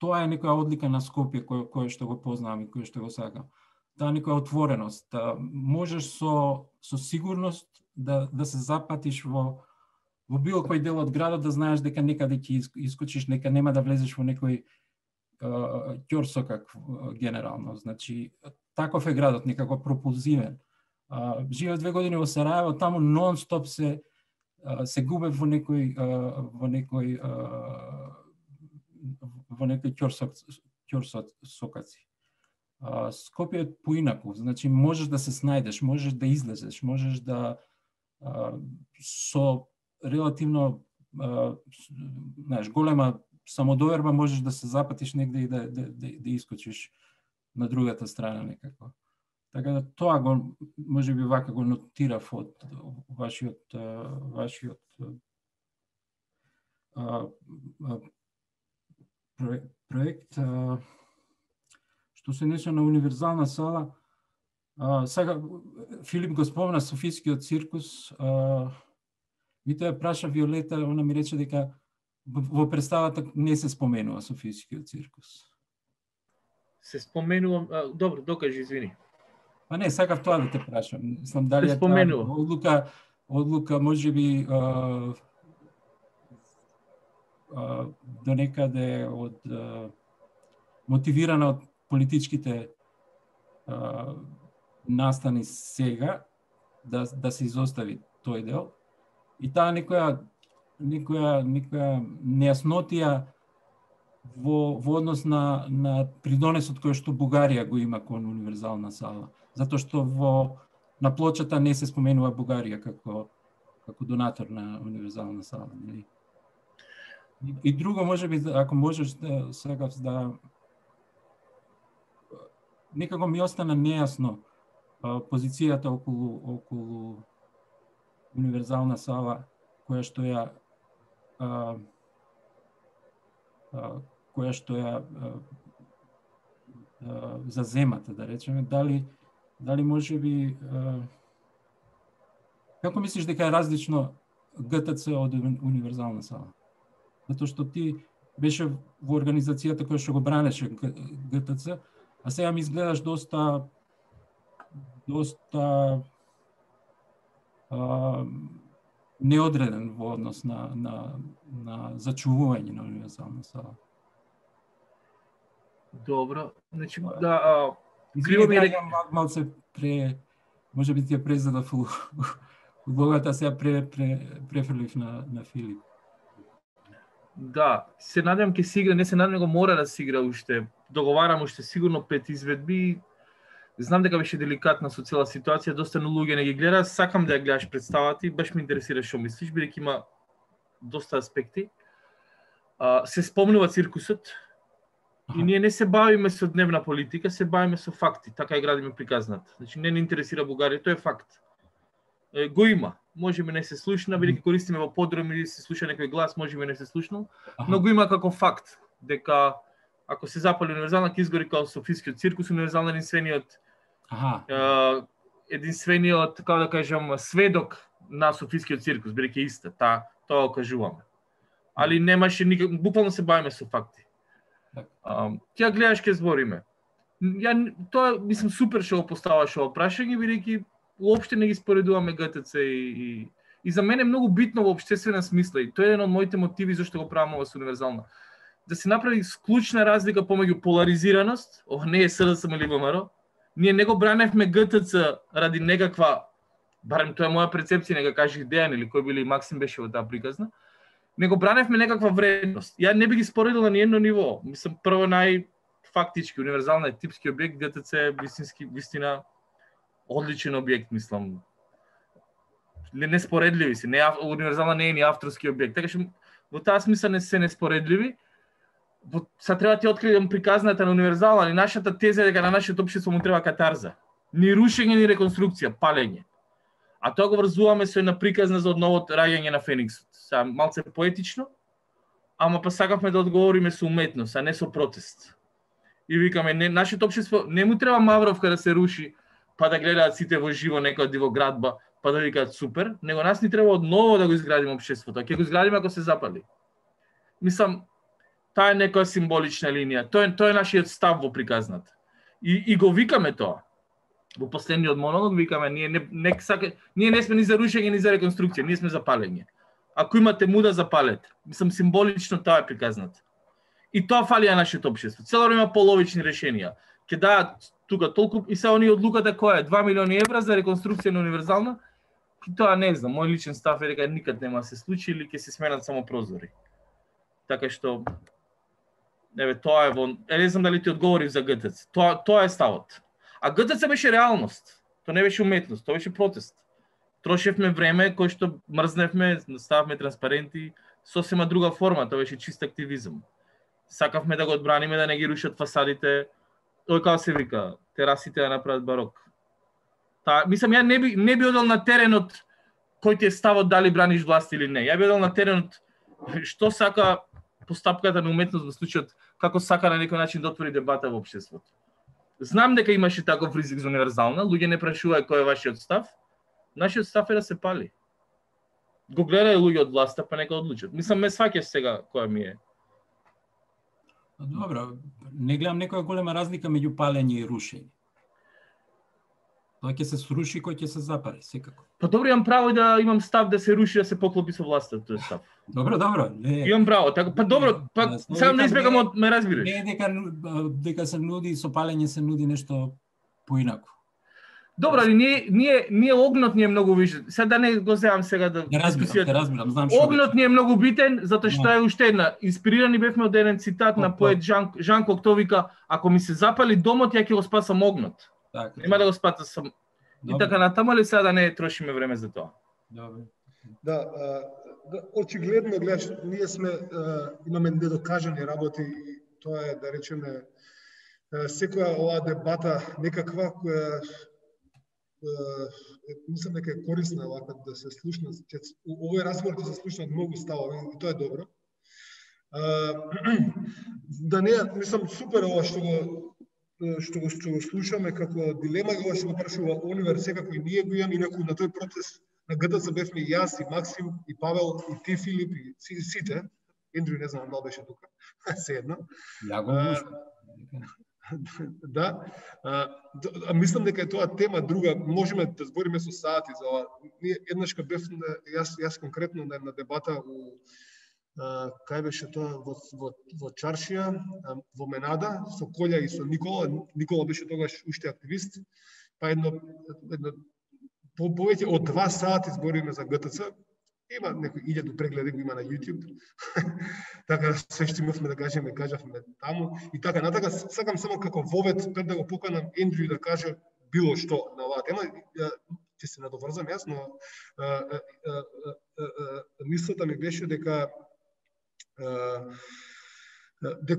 тоа е некоја одлика на Скопје која што го познавам и која што го сакам. Таа некоја отвореност. Можеш со сигурност да се запатиш во било кој дел од градот, да знаеш дека некаде ќе искочиш, дека нема да влезеш во некој ќорсокак генерално. Значи, таков е градот, некако пропулзивен. Живеев 2 години во Сараево, таму нон-стоп се губев во некој ќорсокаци. Скопје е поинаку, значи можеш да се снајдеш, можеш да излезеш, можеш да со релативно знаеш, голема самодоверба можеш да се запатиш негде и да искочиш на другата страна некако. Така да тоа го можеби вака го нотирав од вашиот проект. Што се неше на универзална сала, сега Филип го спомна Софискиот циркус, ми тоа праша Виолета, она ми рече дека во представата не се споменува Софискиот циркус. Се споменува, добро, докажи, извини. Па не, сакав тоа да те прашам. Мислам дали се е споменува. Одлука можеби до некаде од мотивирана од политичките настани сега да се изостави тој дел. И таа некоја нејаснотија во однос на придонесот кој што Бугарија го има кон универзална сала. Затоа што на плочата не се споменува Бугарија како донатор на универзална сала. Нели? И друго, можеби, ако можеш сега да... Некако ми остана нејасно позицијата околу универзална сала која што ја заземата, да речеме, дали можеби како мислиш дека е различно ГТЦ од универзална сала? Затоа што ти беше во организацијата која што го бранеше ГТЦ, а сега ми изгледаш доста неодреден во однос на зачувување на универзална сала. Добро, значи криво ми е малце можеби ти ја презадав улогата, сега префрлив на Филип. Да, се надевам ќе се игра, не се надевам, го мора да се игра уште. Договарам уште сигурно 5 изведби. Знам дека беше деликатна со цела ситуација, доста луѓе не ги гледа, сакам да ја гледаш представата и баш ме интересира што мислиш, бидејќи има доста аспекти. Се спомнува циркусот и ние не се бавиме со дневна политика, се бавиме со факти, така и градиме приказната. Значи не интересира Бугарија, тоа е факт. Го има, можеме не се слушна, бидејќи користиме во подроми или се слуша некој глас, можеме не се слушнал, но го има како факт дека ако се запали универзална, ќе изгори како Софискиот циркус, универзална единствениот, како да кажам, сведок на Софискиот циркус, бидејќи иста, тоа го кажуваме. Али немаше никак, буквално се бавиме со факти. Ќе гледаш, ќе збориме. Тоа мислам супер што го поставаш ово прашање, бидејќи уопште не ги споредуваме ГТЦ и за мене е многу битно во општествена смисла и тоа е еден од моите мотиви зашто го правам ова со универзална. Да се направи клучна разлика помеѓу поларизираност, ова не е СДСМ или ВМРО, ние не го браневме ГТЦ ради некаква, барем тоа е моја перцепција, нека кажи Дејан или кој били Максим беше во таа приказна, не го браневме некаква вредност. Ја не би ги споредил на ниедно ниво. Мислам, прво најфактички, универзална е типски објект, ГТЦ е вистина одличен објект, мислам. Неспоредливи се, универзална не е ни авторски објект. Така што во таа смисла не се неспоредливи. Са треба ти открием приказната на универзална, али нашата теза е дека на нашето општество му треба катарза. Ни рушење, ни реконструкција, палење. А тоа го врзуваме со една приказна за одновото раѓање на Фениксот. Са малце поетично, ама па сакавме да одговориме со уметност, а не со протест. И викаме, нашето општество не му треба Мавровка да се руши, па да гледаат сите во живо некоја дивоградба, па да викаат супер, него нас ни треба одново да го изградиме општеството. Ќе го изградиме ако се запали. Мислам, таа е некоја символична линија. Тоа е нашиот став во приказната. И го викаме тоа. Во последниот монолог викаме, ние не сме ни за рушење, ни за реконструкција, ние сме за палење. Ако имате муда, запалете. Мислам, символично тоа е приказната. И тоа фали на нашето општество. Цело време има половични решенија. Ќе даат тука толку и се они одлуката која е 2 милиони евра за реконструкција на универзална. И тоа не знам, мој личен став е дека никад нема се случи или ќе се сменат само прозори. Така што тоа е во... не знам дали ти одговори за ГТЦ. Тоа е ставот. А ГТЦ беше реалност. Тоа не беше уметност, тоа беше протест. Трошевме време кој што мрзневме, стававме транспаренти, сосема друга форма, тоа беше чист активизм. Сакавме да го одбраниме, да не ги рушат фасадите, како се вика, терасите да направат барок. Мислам, ја не би одел на теренот кој ти е ставот дали браниш власт или не. Ја би одел на теренот што сака постапката на уметност во случајот, како сака на некој начин да отвори дебата во општеството. Знам дека имаше таков ризик за универзална, луѓе не прашуваат кој е вашиот став. Нашиот став е да се пали. Го гледај луѓе од власта, па нека одлучат. Мислам, ме сваќаш сега која ми е. Добро, не гледам некоја голема разлика меѓу палење и рушење. Тоа ќе се сруши, кој ќе се запали, секако. Па добро, имам право да имам став да се руши, да се поклопи со власта, тој став. Добро. Имам право, така, па добро, па само не избегам од ме разбираш. Не дека се нуди со палење се нуди нешто поинако. Добро, али ние огнот ни е многу више. Сега да не го земам сега да Те разбирам, знам што. Огнот ни е многу битен затоа што е уште една. Инспирирани бевме од еден цитат на поет Жан Кокто, вика: ако ми се запали домот, ја ќе го спасам огнот. Нема да го спасам. И така натаму, ли сега да не трошиме време за тоа? Добро. Да, очигледно гледаш, ние имаме недокажани работи и тоа е, да речеме, секоја оваа дебата некаква која мислам дека е корисна вака да се слушна. Овој разговор да се слушнат многу ставови и тоа е добро. Да не, мислам супер ова што го слушаме како дилема, ова што го прашува Оливер, секако и ние го имаме, инаку на тој протест на ГТЦ бевме и јас, и Максим, и Павел, и ти, Филип, и сите. Ендрю не знам дали беше тука, се едно. Ја го слушам. Да, мислам дека е тоа тема друга, можеме да збориме со сати за ова. Ние еднашка бев, јас конкретно на дебата кај беше тоа во Чаршија, во Менада, со Колја и со Никола. Никола беше тогаш уште активист, па едно повеќе од 2 сати збориме за ГТЦ. Има некој 1000 прегледи го има на YouTube. Така се што имавме да кажеме таму и така натака. Сакам само како вовет пред да го поканам Ендрю да каже било што на оваа тема. Ќе се надоврзам јас, но мислата ми беше дека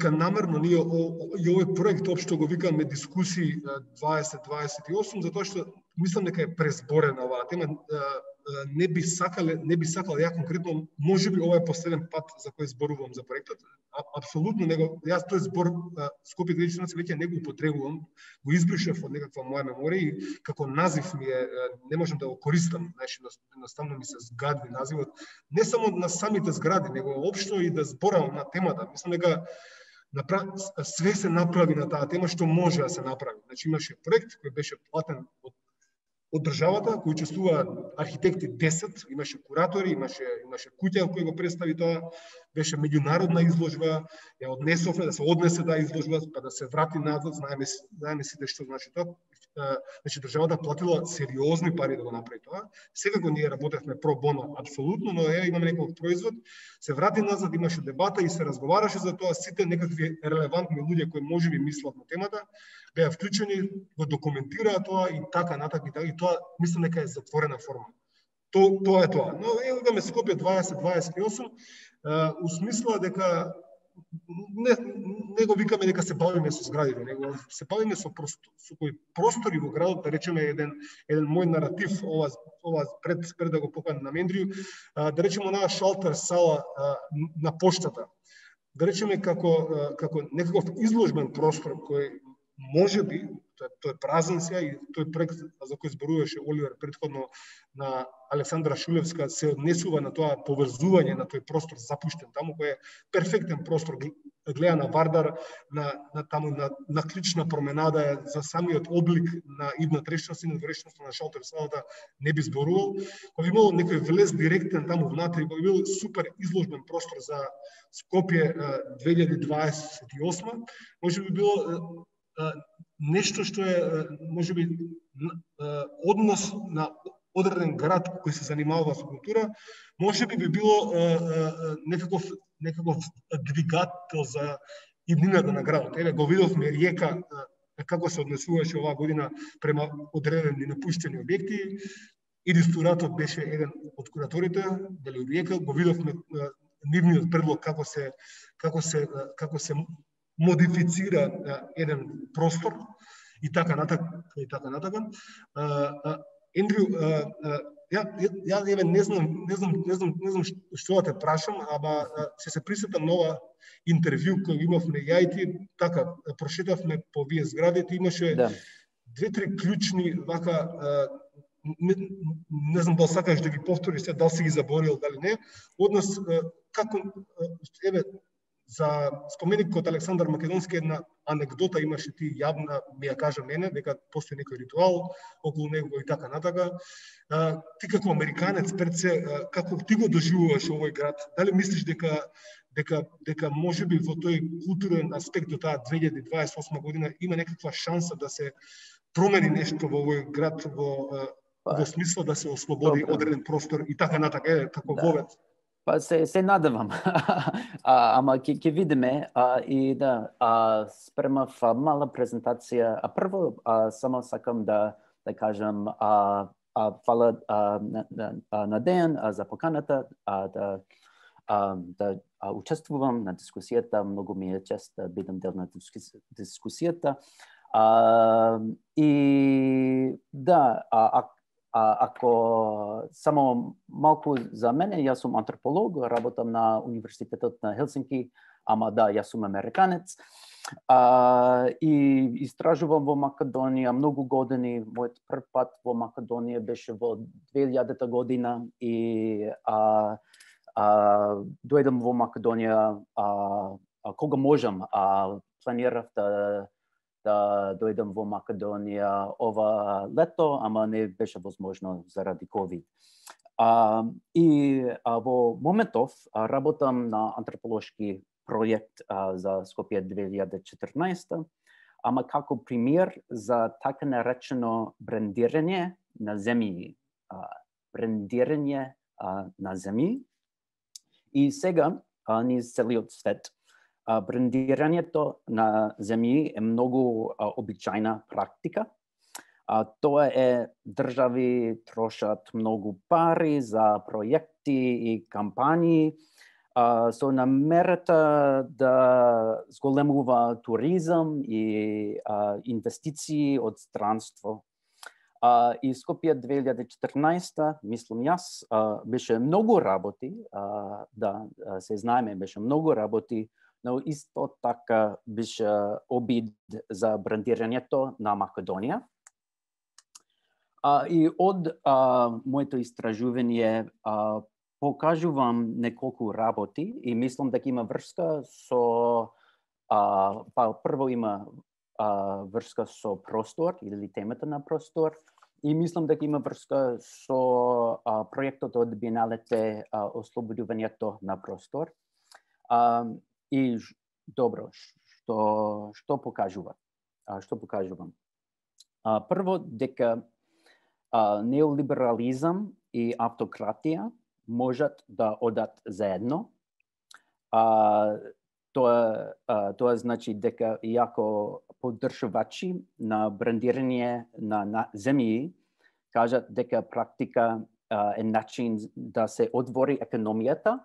намерно ние и овој проект општо го викаме дискусии 2028, затоа што мислам дека е презборена оваа тема. Не би сакал ја конкретно, можеби ова е последен пат за кој зборувам за проектот. Апсолутно јас тој збор Скопје 2014 веќе не го употребувам, го избришав од некаква моја меморија и како назив ми е, не можам да го користам, значи едноставно ми се згади називот, не само на самите згради, него општо и да зборам на темата. Мислам дека све се направи на таа тема што може да се направи. Значи имаше проект кој беше платен од државата, кои учествуваат архитекти 10, имаше куратори, имаше куќа кој го представи тоа, беше меѓународна изложба, ја однесовме да се однесе таа изложба, па да се врати назад, знаеме сите што значи тоа. Значи државата платила сериозни пари да го направи тоа. Секако ние работевме про боно, апсолутно, но имаме некој производ, се врати назад, имаше дебата и се разговараше за тоа, сите некакви релевантни луѓе кои можеби мислат на темата, беа вклучени, го документираа тоа и така натака и тоа мислам дека е затворена форма. Тоа е тоа. Но имаме Скопје 2028, усмисла дека не го викаме дека се бавиме со зградите, него се бавиме со кои простори во градот, да речеме еден мој наратив, ова пред да го поканам на Мендрiju, да речеме онаа шалтер сала на поштата. Да речеме како некаков изложбен простор кој можеби, тој е празен сега и тој проект за кој зборуваше Оливер предходно на Александра Шулевска се однесува на тоа поврзување на тој простор запуштен таму, кој е перфектен простор, гледа на Вардар, на клучна променада, за самиот облик на идната речност и надворечноста на шалтер салата не би зборувал. Кој би имал некој влез директен таму внатре, кој би бил супер изложбен простор за Скопје 2028, може би било нешто што е, можеби, однос на одреден град кој се занимава со култура, можеби би било некаков двигател за иднината на градот. Еве го видовме Риека како се однесуваше оваа година према одредени напуштени објекти. Идисторатот беше еден од кураторите, дали Риека, го видовме нивниот предлог како се модифицира еден простор и така натака. Ендрю, ја еве не знам што да те прашам, ама се присетам на ова интервју кој имавме ја и ти, така прошетавме по вие зградите, имаше две-три клучни вака, не знам дали сакаш да ги повториш, дали си ги заборил, дали не, однос како еве за споменикот Александар Македонски една анекдота имаше ти јавна, ми ја кажа мене, дека постои некој ритуал околу него и така натака. Ти како американец пред се, како ти го доживуваш овој град? Дали мислиш дека можеби во тој културен аспект до таа 2028 година има некаква шанса да се промени нешто во овој град во смисла да се ослободи одреден простор и така натака, како вовет? Па се надевам, ама ќе видиме и да спремав мала презентација. Прво само сакам да кажам фала на Дејан за поканата да учествувам на дискусијата. Многу ми е чест да бидам дел на дискусијата. И да, ако само малку за мене, јас сум антрополог, работам на Универзитетот на Хелсинки, ама да, јас сум американец. И истражувам во Македонија многу години. Мојот прв пат во Македонија беше во 2000 година и дојдам во Македонија кога можам. Планирав да дојдам во Македонија ова лето, ама не беше возможно заради COVID. И во моментов работам на антрополошки проект за Скопје 2014, ама како пример за така наречено брендирање на земји. Брендирање на земји. И сега низ целиот свет брендирањето на земји е многу обичајна практика. Тоа е држави трошат многу пари за проекти и кампањи со намерата да зголемува туризам и инвестиции од странство. И Скопје 2014, мислам јас, беше многу работи, да се знаеме, беше многу работи, но исто така беше обид за брендирањето на Македонија. И од моето истражување покажувам неколку работи и мислам дека има врска со прво има врска со простор или темата на простор и мислам дека има врска со проектот од Биеналете ослободувањето на простор. И добро, што покажува? Што покажувам? Прво дека неолиберализам и автократија можат да одат заедно. Тоа значи дека иако поддржувачи на брендирање на земји кажат дека практика е начин да се отвори економијата,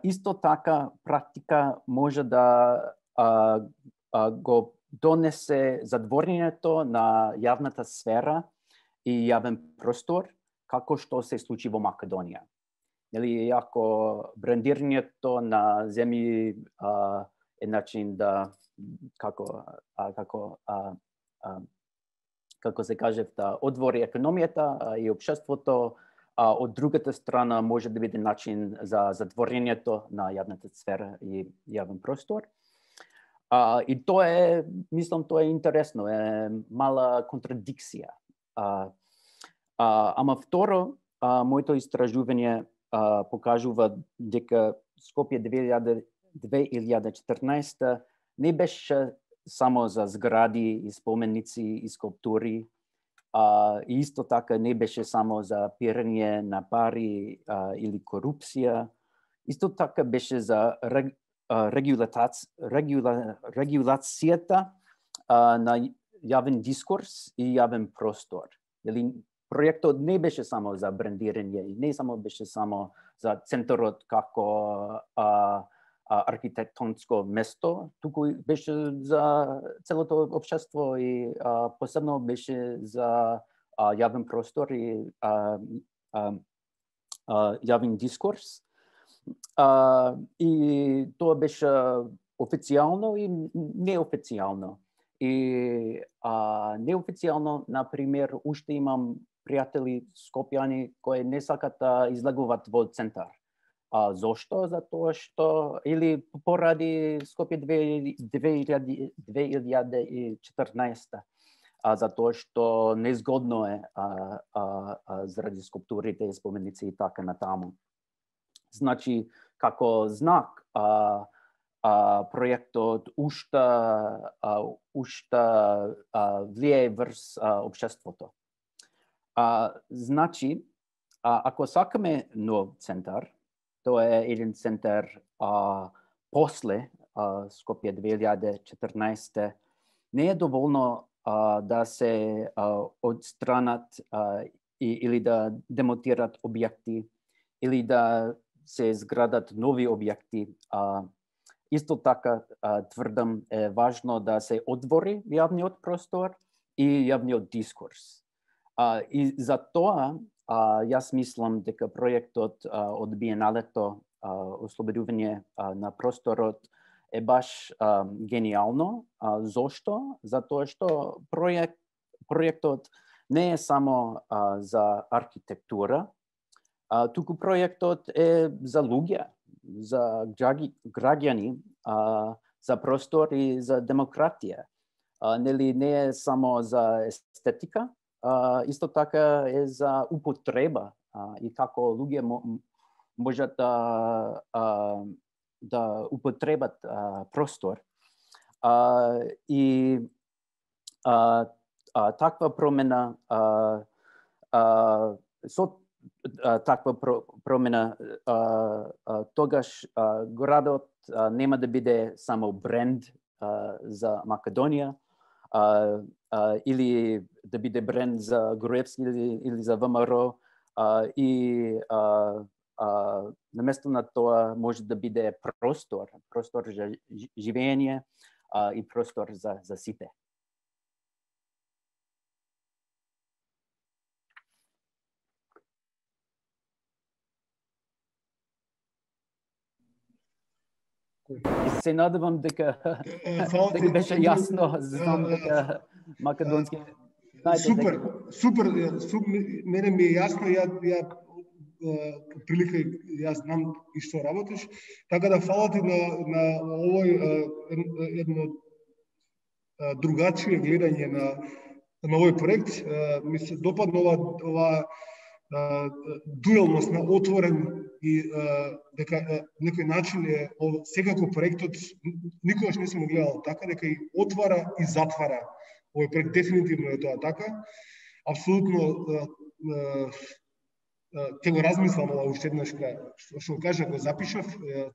исто така практика може да го донесе затворањето на јавната сфера и јавен простор, како што се случи во Македонија. Нели, ако брендирањето на земји е начин да како се каже, да отвори економијата и општеството, од другата страна може да биде начин за затворањето на јавната сфера и јавен простор. И тоа е, мислам, тоа е интересно, е мала контрадикција. Ама второ, моето истражување покажува дека Скопје 2014 не беше само за згради и споменици и скулптури, и исто така не беше само за пирање на пари или корупција. Исто така беше за регулацијата на јавен дискурс и јавен простор. Проектот не беше само за брендирање, не само беше само за центарот како архитектонско место, туку беше за целото општество и посебно беше за јавен простор и јавен дискурс. И тоа беше официјално и неофицијално. И неофицијално, например, уште имам пријатели скопјани кои не сакат да излегуваат во центар. Зошто? Затоа што или поради Скопје 2014, затоа што незгодно е заради скулптурите и споменици и така натаму. Значи, како знак, проектот уште влијае врз општеството. Значи, ако сакаме нов центар, тоа е еден центар после Скопје 2014, не е доволно да се одстранат или да демотират објекти, или да се изградат нови објекти. Исто така тврдам е важно да се отвори јавниот простор и јавниот дискурс. И за тоа јас мислам дека проектот од Биеналето ослободување на просторот е баш генијално. Зошто? Затоа што проектот не е само за архитектура, туку проектот е за луѓе, за граѓани, за простор и за демократија. Не е само за естетика, исто така е за употреба и како луѓе можат да употребат простор. И таква промена со таква промена тогаш градот нема да биде само бренд за Македонија или да биде бренд за Груевски или за ВМРО и наместо на тоа може да биде простор за живење и простор за сите. Се надевам дека беше јасно, знам дека македонски... Супер, мене ми е јасно, прилика јас знам и што работиш, така да фала ти на овој едно другачие гледање на овој проект. Ми се допадна ова дуелност на отворен и дека некој начин е секако проектот никогаш не сум гледал така, дека и отвара и затвара. Овој проект дефинитивно е тоа така. Апсолутно ќе го размислам ова уште еднаш, што кажа, го запишав,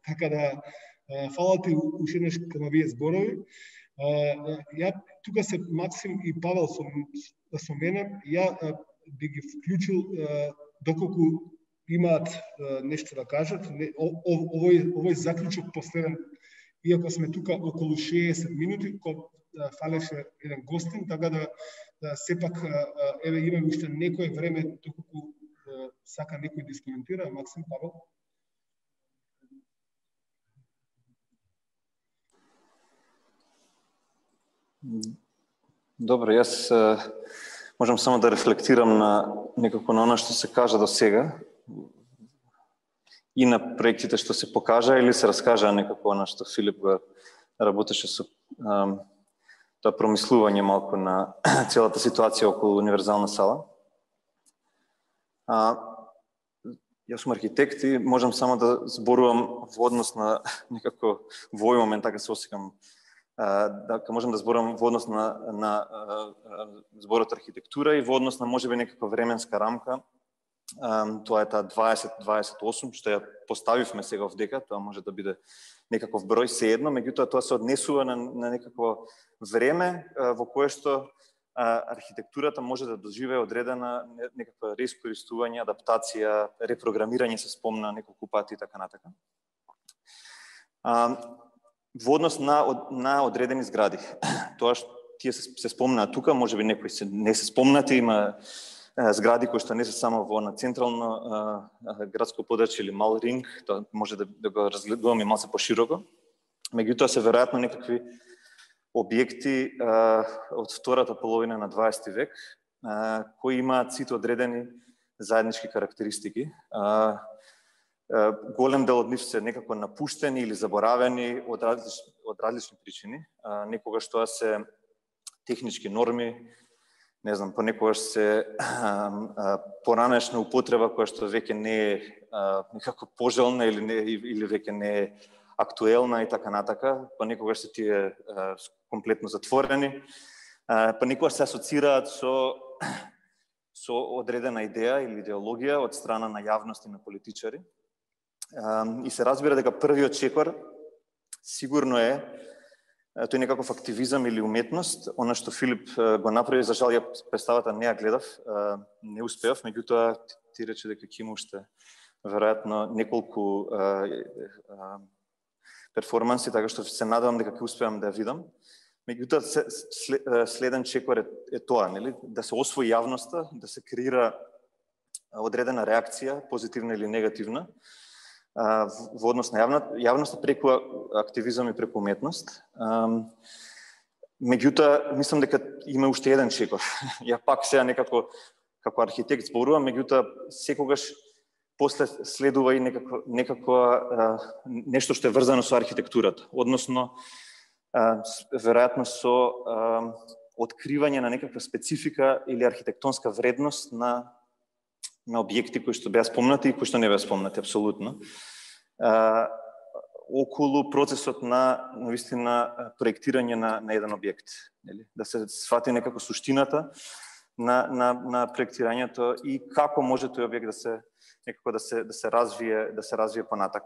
така да фала ти уште еднаш кон овие зборови. Ја тука се Максим и Павел со мене, ја би ги вклучил доколку имаат нешто да кажат. Овој заклучок последен, иако сме тука околу 60 минути, фалеше еден гостин, така да сепак еве имаме уште некое време доколку сака некој да искоментира. Максим, Павел? Добро, јас можам само да рефлектирам некако на оно што се кажа до сега и на проектите што се покажа или се раскажа некако оно што Филип го работеше со тоа промислување малку на целата ситуација околу универзална сала. Јас сум архитект и можам само да зборувам во однос на некако во овој момент, така се осекам, дека можам да зборувам во однос на зборот архитектура и во однос на можеби некаква временска рамка Тоа е таа 20-28, што ја поставивме сега овдека, тоа може да биде некаков број сеедно, меѓутоа тоа се однесува на некакво време во кое што архитектурата може да доживее одредена некаква реискористување, адаптација, репрограмирање се спомна неколку пати и така натака. Во однос на одредени згради. Тоа што тие се спомнаат тука, можеби некои не се спомнати, има згради кои што не се само во на централно градско подрачје или мал ринг, тоа може да го разгледуваме малку пошироко. Меѓутоа се веројатно некакви објекти од втората половина на 20 век кои имаат сите одредени заеднички карактеристики. Голем дел од нив се некако напуштени или заборавени од различни причини. Некогаш тоа се технички норми, не знам, понекогаш се поранешна употреба која што веќе не е некако пожелна или веќе не е актуелна и така натака, понекогаш се тие комплетно затворени, понекогаш се асоцираат со одредена идеја или идеологија од страна на јавност и на политичари. И се разбира дека првиот чекор сигурно е тој некаков активизам или уметност, она што Филип го направи, за жал ја представата не ја гледав, не успеав, меѓутоа ти рече дека ќе има уште веројатно неколку перформанси, така што се надевам дека ќе успеам да ја видам. Меѓутоа следен чекор е тоа, нели, да се освои јавноста, да се креира одредена реакција, позитивна или негативна, во однос на јавноста преку активизам и преку уметност. Меѓутоа, мислам дека има уште еден чекор. Ја пак сега некако како архитект зборувам, меѓутоа секогаш после следува и некако нешто што е врзано со архитектурата, односно веројатно со откривање на некаква специфика или архитектонска вредност на објекти кои што беа спомнати и кои што не беа спомнати апсолутно. Околу процесот на навистина проектирање на еден објект, нели? Да се сфати некако суштината на проектирањето и како може тој објект да се развие понатак.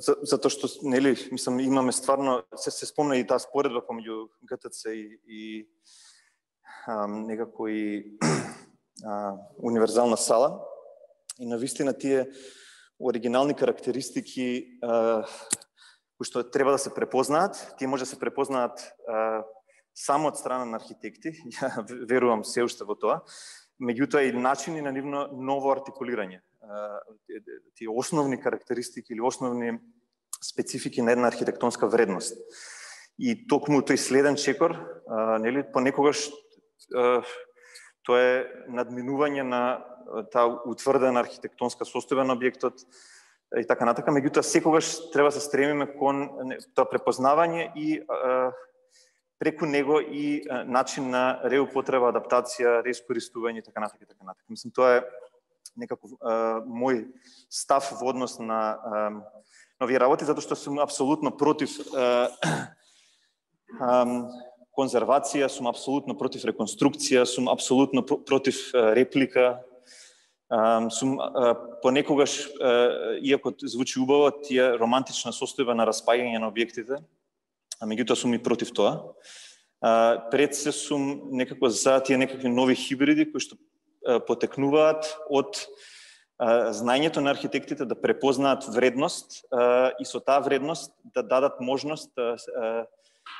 Затоа што, нели, мислам, имаме стварно, се спомна и таа споредба помеѓу ГТЦ и некако и универзална сала. И навистина тие оригинални карактеристики кои што треба да се препознаат, тие може да се препознаат само од страна на архитекти, ја верувам се уште во тоа, меѓутоа и начини на нивно ново артикулирање. Тие основни карактеристики или основни специфики на една архитектонска вредност. И токму тој следен чекор, нели, понекогаш тоа е надминување на таа утврдена архитектонска состојба на објектот и така натака, меѓутоа секогаш треба да се стремиме кон тоа препознавање и преку него и начин на реупотреба, адаптација, реискористување и така натака и така натака. Мислам, тоа е некако мој став во однос на овие работи, затоа што сум апсолутно против конзервација, сум апсолутно против реконструкција, сум апсолутно против реплика. Сум понекогаш, иако звучи убаво, тие романтична состојба на распаѓање на објектите, а меѓутоа сум и против тоа. Пред се сум некако за тие некакви нови хибриди кои што потекнуваат од знаењето на архитектите да препознаат вредност и со таа вредност да дадат можност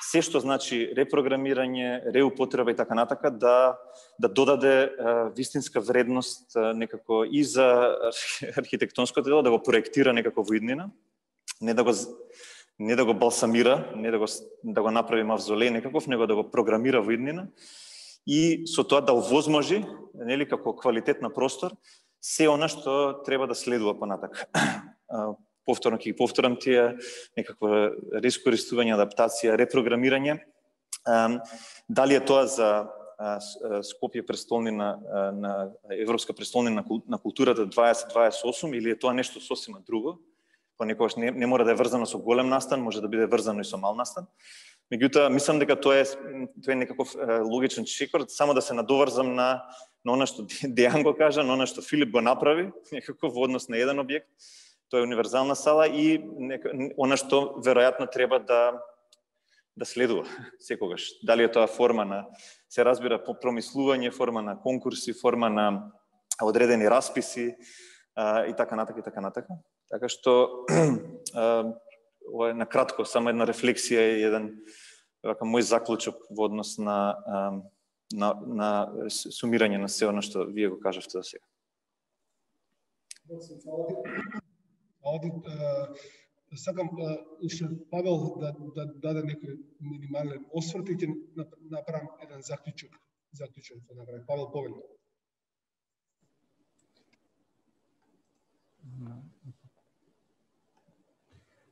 се што значи репрограмирање, реупотреба и така натака да додаде вистинска вредност некако и за архитектонското дело, да го проектира некако во иднина, не да го балсамира, не да го направи мавзолеј некаков, него да го програмира во иднина и со тоа да овозможи, нели, како квалитет на простор, се она што треба да следува понатак. Повторно ќе ги повторам тие некаква реискористување, адаптација, репрограмирање. Дали е тоа за Скопје престолнина на Европска престолнина на културата 2028 или е тоа нешто сосема друго? Понекогаш не мора да е врзано со голем настан, може да биде врзано и со мал настан. Меѓутоа, мислам дека тоа е некаков логичен чекор, само да се надоврзам на она што Дејан го кажа, на она што Филип го направи, некако во однос на еден објект. Тоа е универзална сала и она што веројатно треба да следува секогаш. Дали е тоа форма на, се разбира, промислување, форма на конкурси, форма на одредени расписи и така натака. Така што ова е накратко, само една рефлексија и еден мој заклучок во однос на сумирање на се оно што вие го кажавте до сега. Сакам уште Павел да даде некој минимален осврт и ќе направам еден заклучок да направи. Павел, повели.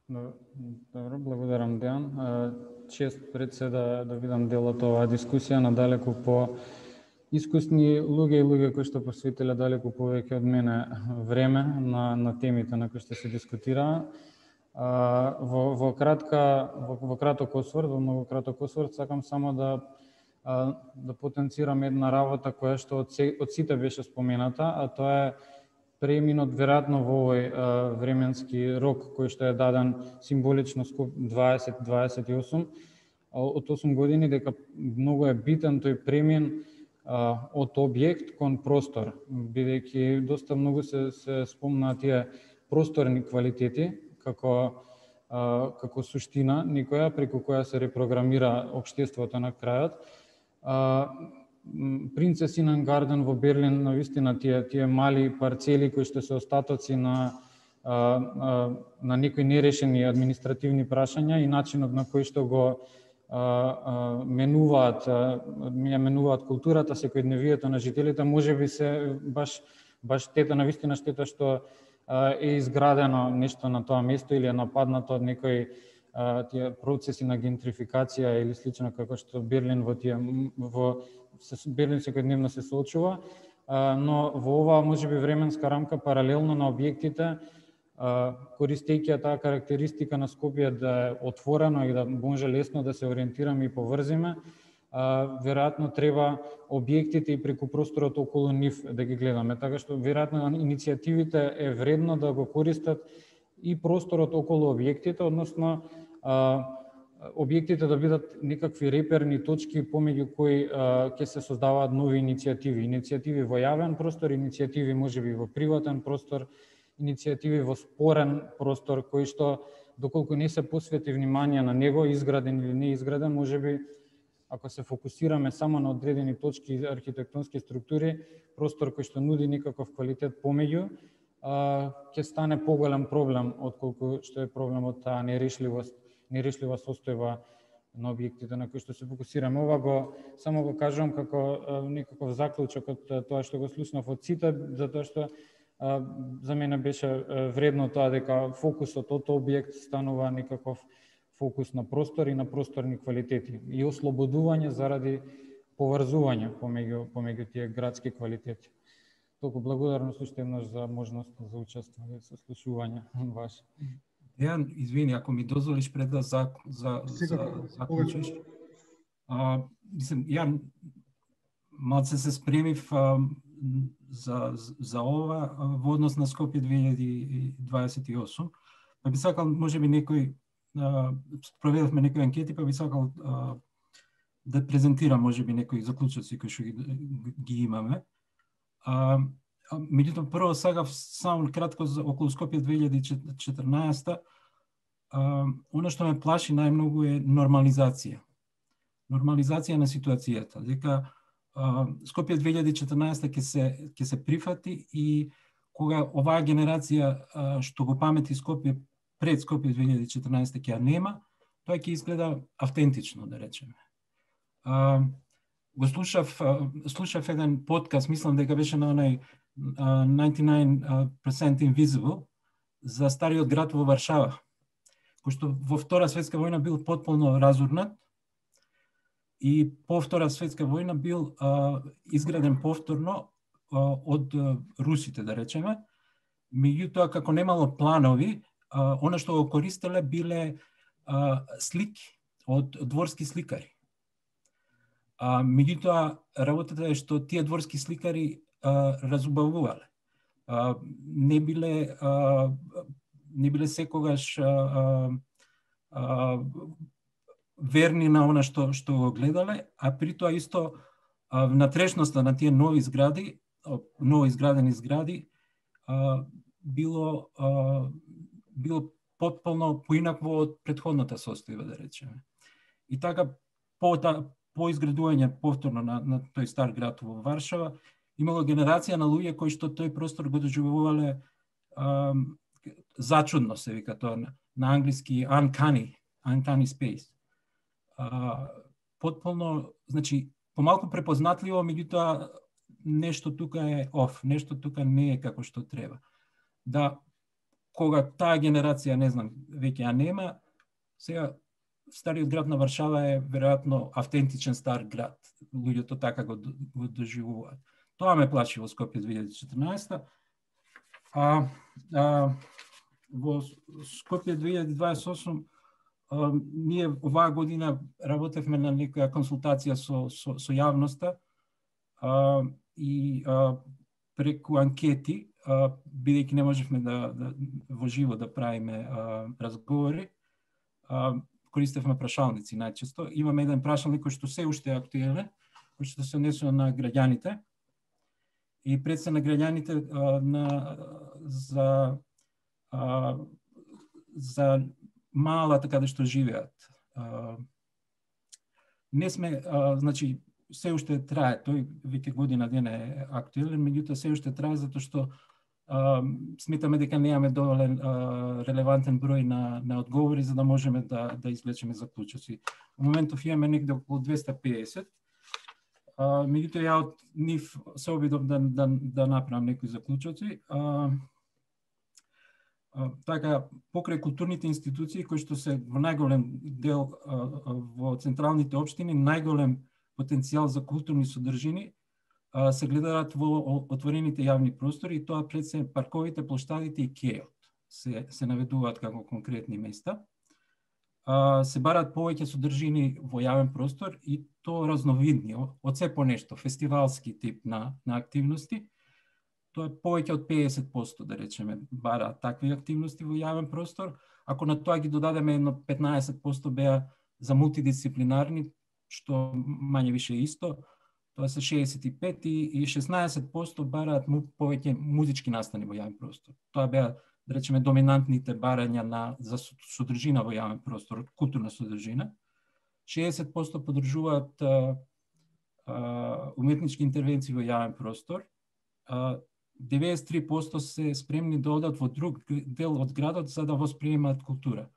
Добро, благодарам, Дејан. Чест пред се да видам дел од оваа дискусија на далеку по искусни луѓе и луѓе кои што посветиле далеку повеќе од мене време на темите на кои што се дискутираа. Во краток осврт, во многу краток осврт, сакам само да потенцирам една работа која што од сите беше спомената, а тоа е преминот веројатно во овој временски рок кој што е даден символично Скоп 2028 од 8 години, дека многу е битен тој премин од објект кон простор, бидејќи доста многу се спомна тие просторни квалитети како суштина некоја преку која се репрограмира општеството на крајот. Принцесинен гарден во Берлин, навистина тие мали парцели кои што се остатоци на некои нерешени административни прашања и начинот на кој што го менуваат културата, секојдневието на жителите, можеби се баш штета, навистина штета што е изградено нешто на тоа место или е нападнато од некои тие процеси на гентрификација или слично како што Берлин Берлин секојдневно се соочува, но во оваа можеби временска рамка паралелно на објектите, користејќи таа карактеристика на Скопје да е отворено и да може лесно да се ориентираме и поврзиме, веројатно треба објектите и преку просторот околу нив да ги гледаме. Така што веројатно иницијативите е вредно да го користат и просторот околу објектите, односно објектите да бидат некакви реперни точки помеѓу кои ќе се создаваат нови иницијативи во јавен простор, иницијативи можеби во приватен простор, иницијативи во спорен простор, кои што доколку не се посвети внимание на него, изграден или не изграден, можеби ако се фокусираме само на одредени точки и архитектонски структури, простор кој што нуди некаков квалитет помеѓу, ќе стане поголем проблем отколку што е проблемот таа нерешлива состојба на објектите на кои што се фокусираме. Ова само го кажувам како некаков заклучок од тоа што го слушнав од сите, затоа што за мене беше вредно тоа дека фокусот од објект станува некаков фокус на простор и на просторни квалитети и ослободување заради поврзување помеѓу тие градски квалитети. Толку благодарност уште еднаш за можност за учествување со слушување ваше. Дејан, извини, ако ми дозволиш пред да заклучиш. Мислам, ја малце се спремив за ова во однос на Скопје 2028. Па би сакал, можеби некој, проведовме некои анкети, па би сакал да презентирам можеби некои заклучоци кои што ги имаме. Меѓутоа, прво сакав само кратко околу Скопје 2014. Оно што ме плаши најмногу е нормализација. Нормализација на ситуацијата. Дека Скопје 2014 ќе се прифати и кога оваа генерација што го памети Скопје пред Скопје 2014 ќе ја нема, тоа ќе изгледа автентично, да речеме. Го слушав еден подкаст, мислам дека беше на онај 99% Invisible за стариот град во Варшава, кој што во Втора светска војна бил потполно разурнат и по Втора светска војна бил изграден повторно од русите, да речеме. Меѓутоа, како немало планови, она што го користеле биле слики од дворски сликари. Меѓутоа, работата е што тие дворски сликари разубавувале. Не биле секогаш верни на она што го гледале, а при тоа исто внатрешноста на тие нови згради, ново изградени згради, било потполно поинакво од претходната состојба, да речеме. И така, по изградување повторно на тој стар град во Варшава, имало генерација на луѓе кои што тој простор го доживувале зачудно, се вика тоа на англиски uncanny space. Потполно, значи, помалку препознатливо, меѓутоа нешто тука е оф, нешто тука не е како што треба. Да, кога таа генерација, не знам, веќе ја нема, сега стариот град на Варшава е веројатно автентичен стар град. Луѓето така го доживуваат. Тоа ме плаши во Скопје 2014. Во Скопје 2028 ние оваа година работевме на некоја консултација со јавноста и преку анкети, бидејќи не можевме во живо да правиме разговори, користевме прашалници најчесто. Имаме еден прашалник кој што се уште е актуелен, кој што се однесува на граѓаните и пред се на граѓаните за малата каде што живеат. Не сме, значи, се уште трае, тој веќе година дена е актуелен, меѓутоа се уште трае затоа што сметаме дека немаме доволен релевантен број на одговори за да можеме да извлечеме заклучоци. Во моментов имаме некаде околу 250. Меѓутоа ја од нив се обидов да направам некои заклучоци. Така, покрај културните институции кои што се во најголем дел во централните општини, најголем потенцијал за културни содржини се гледаат во отворените јавни простори, и тоа пред се парковите, плоштадите и кејот се наведуваат како конкретни места. Се бараат повеќе содржини во јавен простор и то разновидни, од се по нешто, фестивалски тип на активности. Тоа е повеќе од 50%, да речеме, бараат такви активности во јавен простор. Ако на тоа ги додадеме едно 15% беа за мултидисциплинарни, што мање више исто, тоа се 65 и 16% бараат повеќе музички настани во јавен простор. Тоа беа, да речеме, доминантните барања за содржина во јавен простор, културна содржина. 60% поддржуваат уметнички интервенции во јавен простор. 93% се спремни да одат во друг дел од градот за да восприемаат култура.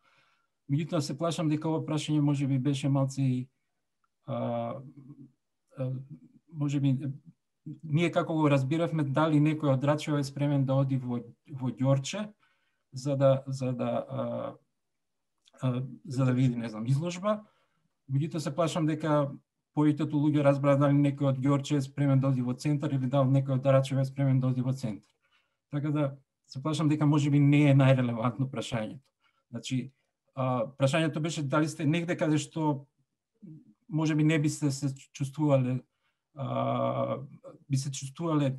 Меѓутоа се плашам дека ова прашање можеби беше малце и можеби ние како го разбиравме, дали некој од Рачево е спремен да оди во Ѓорче за да види, не знам, изложба. Меѓутоа се плашам дека повеќето луѓе разбраа дали некој од Ѓорче е спремен да оди во центар или дали некој од Рачево е спремен да оди во центар. Така да се плашам дека можеби не е најрелевантно прашањето. Значи, прашањето беше дали сте негде каде што можеби не би се чувствувале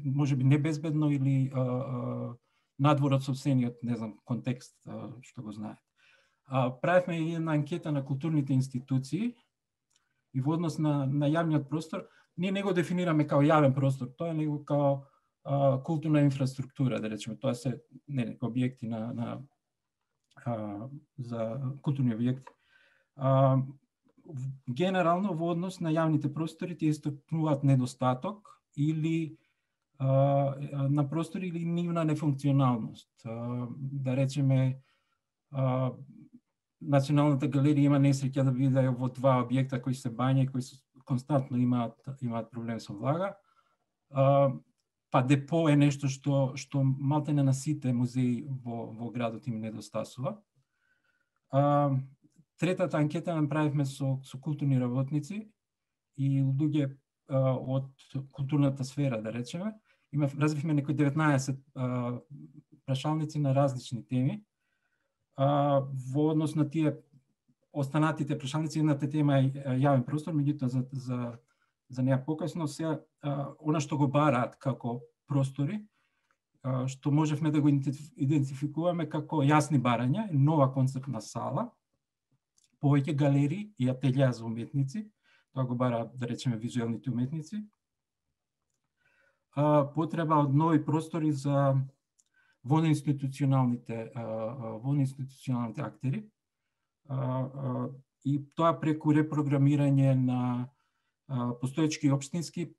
можеби небезбедно или надвор од сопствениот, не знам, контекст што го знаете. Правевме и една анкета на културните институции и во однос на јавниот простор. Ние не го дефинираме као јавен простор, тоа е него као културна инфраструктура, да речеме. Тоа се објекти за културни објекти. Генерално во однос на јавните простори тие истакнуваат недостаток или на простори или нивна нефункционалност. Да речеме, Националната галерија има несреќа да биде во два објекта кои се бања и кои константно имаат проблем со влага. Па депо е нешто што малтене на сите музеи во градот им недостасува. Третата анкета направивме со културни работници и луѓе од културната сфера, да речеме. Развивме некои 19 прашалници на различни теми. Во однос на тие останатите прашалници, едната тема е јавен простор, меѓутоа за неа покасно. Сега, она што го бараат како простори, што можевме да го идентификуваме како јасни барања, нова концептна сала, повеќе галерии и ателјеа за уметници, тоа го бараат, да речеме, визуелните уметници, потреба од нови простори за воноинституционалните актери, и тоа преку репрограмирање на постоечки општински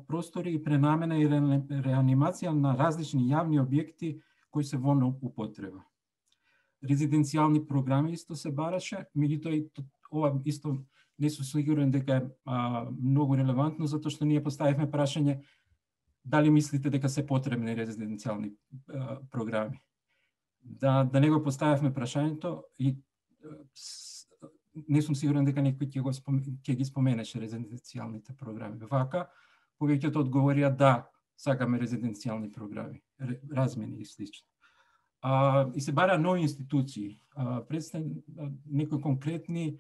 простори и пренамена и реанимација на различни јавни објекти кои се во употреба. Резиденцијални програми исто се бараше, меѓутоа и ова исто не сум сигурен дека е многу релевантно, затоа што ние поставивме прашање дали мислите дека се потребни резиденцијални програми. Да не го поставивме прашањето и не сум сигурен дека некој ќе ги споменеше резиденцијалните програми. Вака, повеќето одговорија да, сакаме резиденцијални програми, размени и слично. И се бара нови институции. Некои конкретни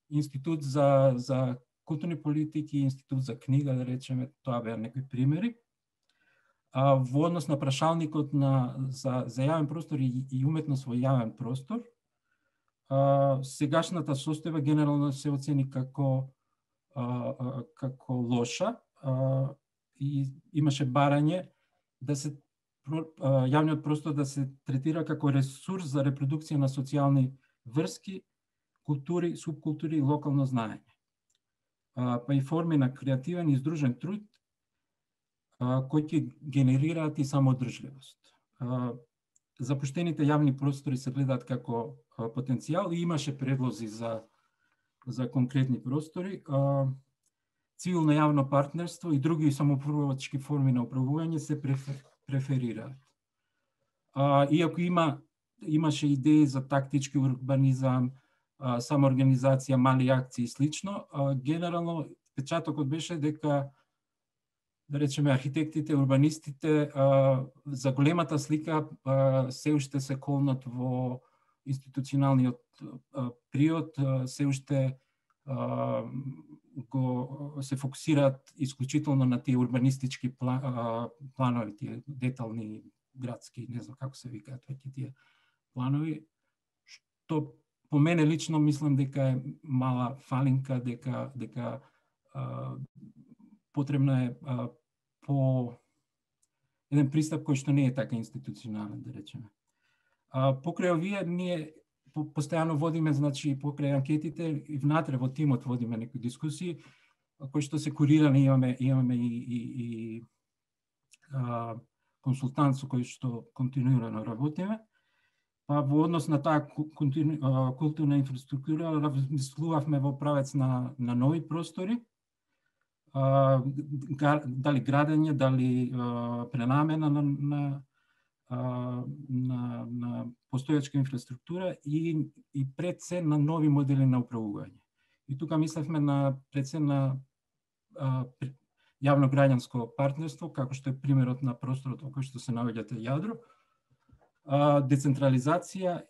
институт за културни политики, институт за книга, да речеме, тоа беа некои примери. Во однос на прашалникот за јавен простор и уметност во јавен простор, сегашната состојба генерално се оцени како лоша, и имаше барање да се јавниот простор да се третира како ресурс за репродукција на социјални врски, култури, субкултури и локално знаење. Па и форми на креативен и здружен труд кои ќе генерираат и самоодржливост. Запуштените јавни простори се гледаат како потенцијал и имаше предлози за конкретни простори. Цивилно јавно партнерство и други самоуправувачки форми на управување се преферираат. Иако имаше идеи за тактички урбанизам, самоорганизација, мали акции и слично, генерално печатокот беше дека, да речеме, архитектите, урбанистите за големата слика се уште се колнат во институционалниот приод, се уште се фокусираат исклучително на тие урбанистички планови, тие детални градски, не знам како се викаат веќе тие планови, што по мене лично мислам дека е мала фалинка, дека потребно е по еден пристап кој што не е така институционален, да речеме. Покрај овие ние постојано водиме, значи покрај анкетите и внатре во тимот водиме некои дискусии кои што се курирани, имаме и консултант со кој што континуирано работиме. Па во однос на таа културна инфраструктура размислувавме во правец на нови простори, дали градење, дали пренамена на постојачка инфраструктура и пред се на нови модели на управување. И тука мислевме пред се на јавно-граѓанско партнерство, како што е примерот на просторот во кој што се наоѓате јадро, децентрализација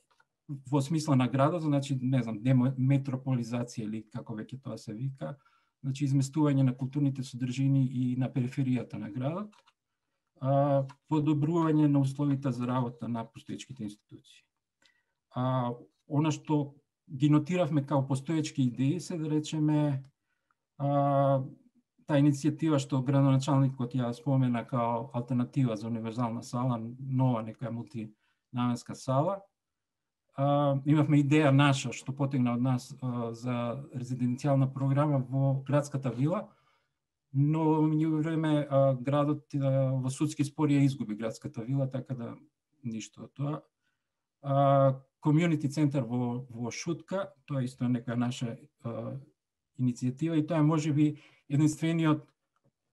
во смисла на градот, значи, не знам, деметрополизација или како веќе тоа се вика, значи изместување на културните содржини и на периферијата на градот, подобрување на условите за работа на постоечките институции. Она што ги нотиравме као постоечки идеи се, да речеме, таа иницијатива што градоначалникот ја спомена као алтернатива за универзална сала, нова нека мултинаменска сала. Имавме идеја наша што потегна од нас за резиденцијална програма во градската вила, но во време градот во судски спор ја изгуби градската вила, така да ништо од тоа. Комјунити центар во Шутка, тоа исто е нека наша иницијатива и тоа е можеби единствениот,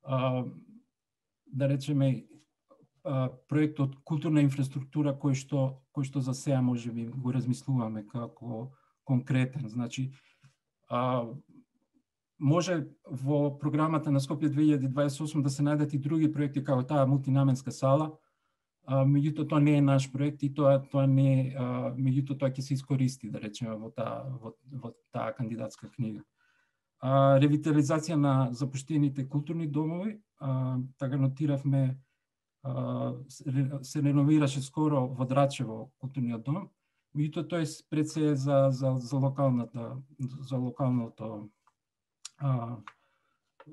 да речеме, проект од културна инфраструктура кој што за сега можеби го размислуваме како конкретен. Значи, може во програмата на Скопје 2028 да се најдат и други проекти како таа мултинаменска сала, Меѓутоа тоа не е наш проект и тоа не меѓутоа тоа ќе се искористи, да речеме, во таа кандидатска книга. Ревитализација на запуштените културни домови, така нотиравме, се реновираше скоро во Драчево културниот дом, меѓутоа тој пред се за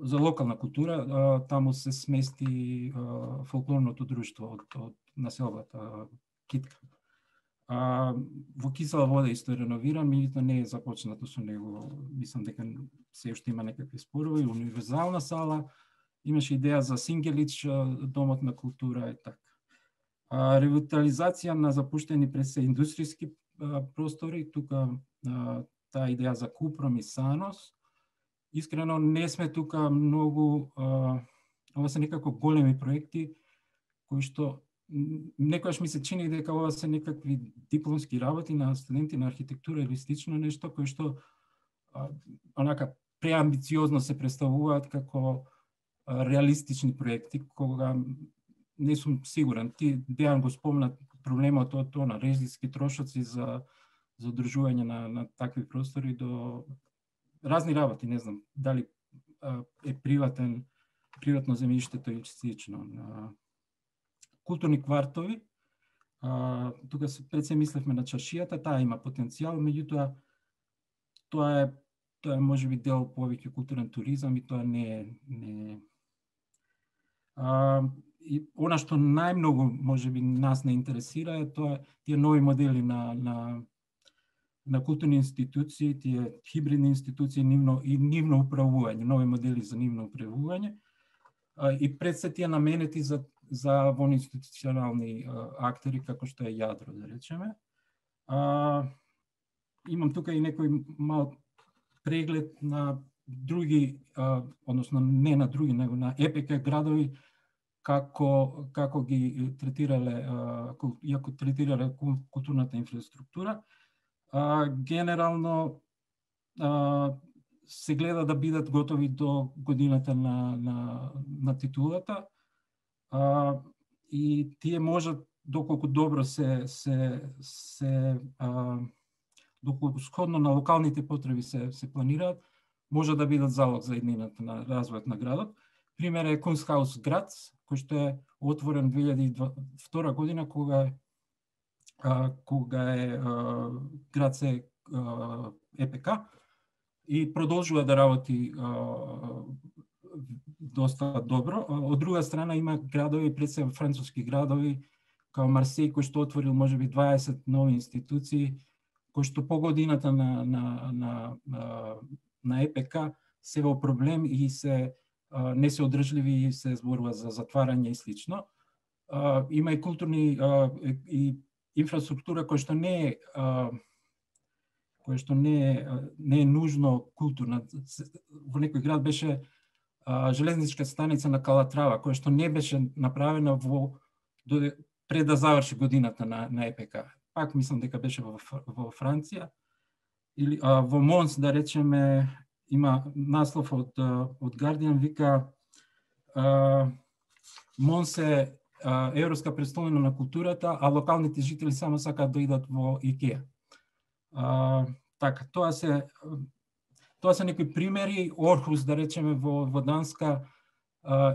локална култура, таму се смести фолклорното друштво од населбата Китка. Во Кисела вода исто е реновиран, меѓутоа не е започнато со него. Мислам дека се уште има некакви спорови. Универзална сала, имаше идеја за Сингелич, домот на култура и така. Ревитализација на запуштени пред се индустријски простори, тука таа идеја за Купром и Санос. Искрено не сме тука многу, ова се некако големи проекти кои што некојаш ми се чини дека ова се некакви дипломски работи на студенти на архитектура или слично нешто кои што онака преамбициозно се представуваат како реалистични проекти, кога не сум сигурен. Ти Дејан го спомна проблемот од тоа на режиски трошоци за одржување на такви простори до разни работи, не знам, дали е приватно земјиштето или слично. Културни квартови, тука пред се мислевме на чаршијата, таа има потенцијал, меѓутоа тоа е можеби дел повеќе културен туризам и тоа не е. И она што најмногу можеби нас не интересира е тоа тие нови модели на културни институции, тие хибридни институции и нивно управување, нови модели за нивно управување. И пред се тие наменети за воинституционални актери, како што е јадро, да речеме. Имам тука и некој мал преглед на други, односно не на други, него на ЕПК градови, како ги третирале, иако третирале културната инфраструктура. Генерално се гледа да бидат готови до годината на титулата. И тие можат, доколку добро доколку сходно на локалните потреби се планираат, може да бидат залог за иднината на развојот на градот. Пример е Kunsthaus Graz, кој што е отворен 2002 година, кога е Грац е ЕПК и продолжува да работи доста добро. Од друга страна има градови, пред се француски градови, као Марсеј, кој што отворил можеби 20 нови институции, кој што по годината на ЕПК се во проблем и не се одржливи и се зборува за затварање и слично. Има и културни и инфраструктура која што не е нужно културна. Во некој град беше железничка станица на Калатрава, која што не беше направена пред да заврши годината на ЕПК. Пак мислам дека беше во Франција. Или во Монс, да речеме, има наслов од Guardian, вика Монс е европска престолнина на културата, а локалните жители само сакаат да идат во Икеа. Така, тоа се некои примери. Орхус, да речеме, во Данска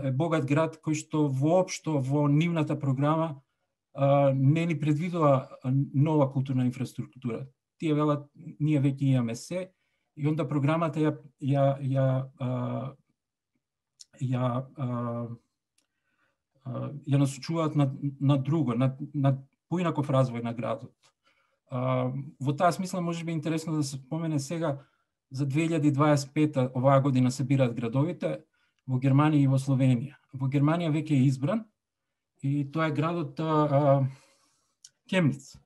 е богат град кој што воопшто во нивната програма не ни предвидува нова културна инфраструктура. Тие велат, ние веќе имаме се, и онда програмата ја насочуваат на друго, на поинаков развој на градот. Во таа смисла може би интересно да се спомене сега за 2025 оваа година се бираат градовите во Германија и во Словенија. Во Германија веќе е избран и тоа е градот Кемниц.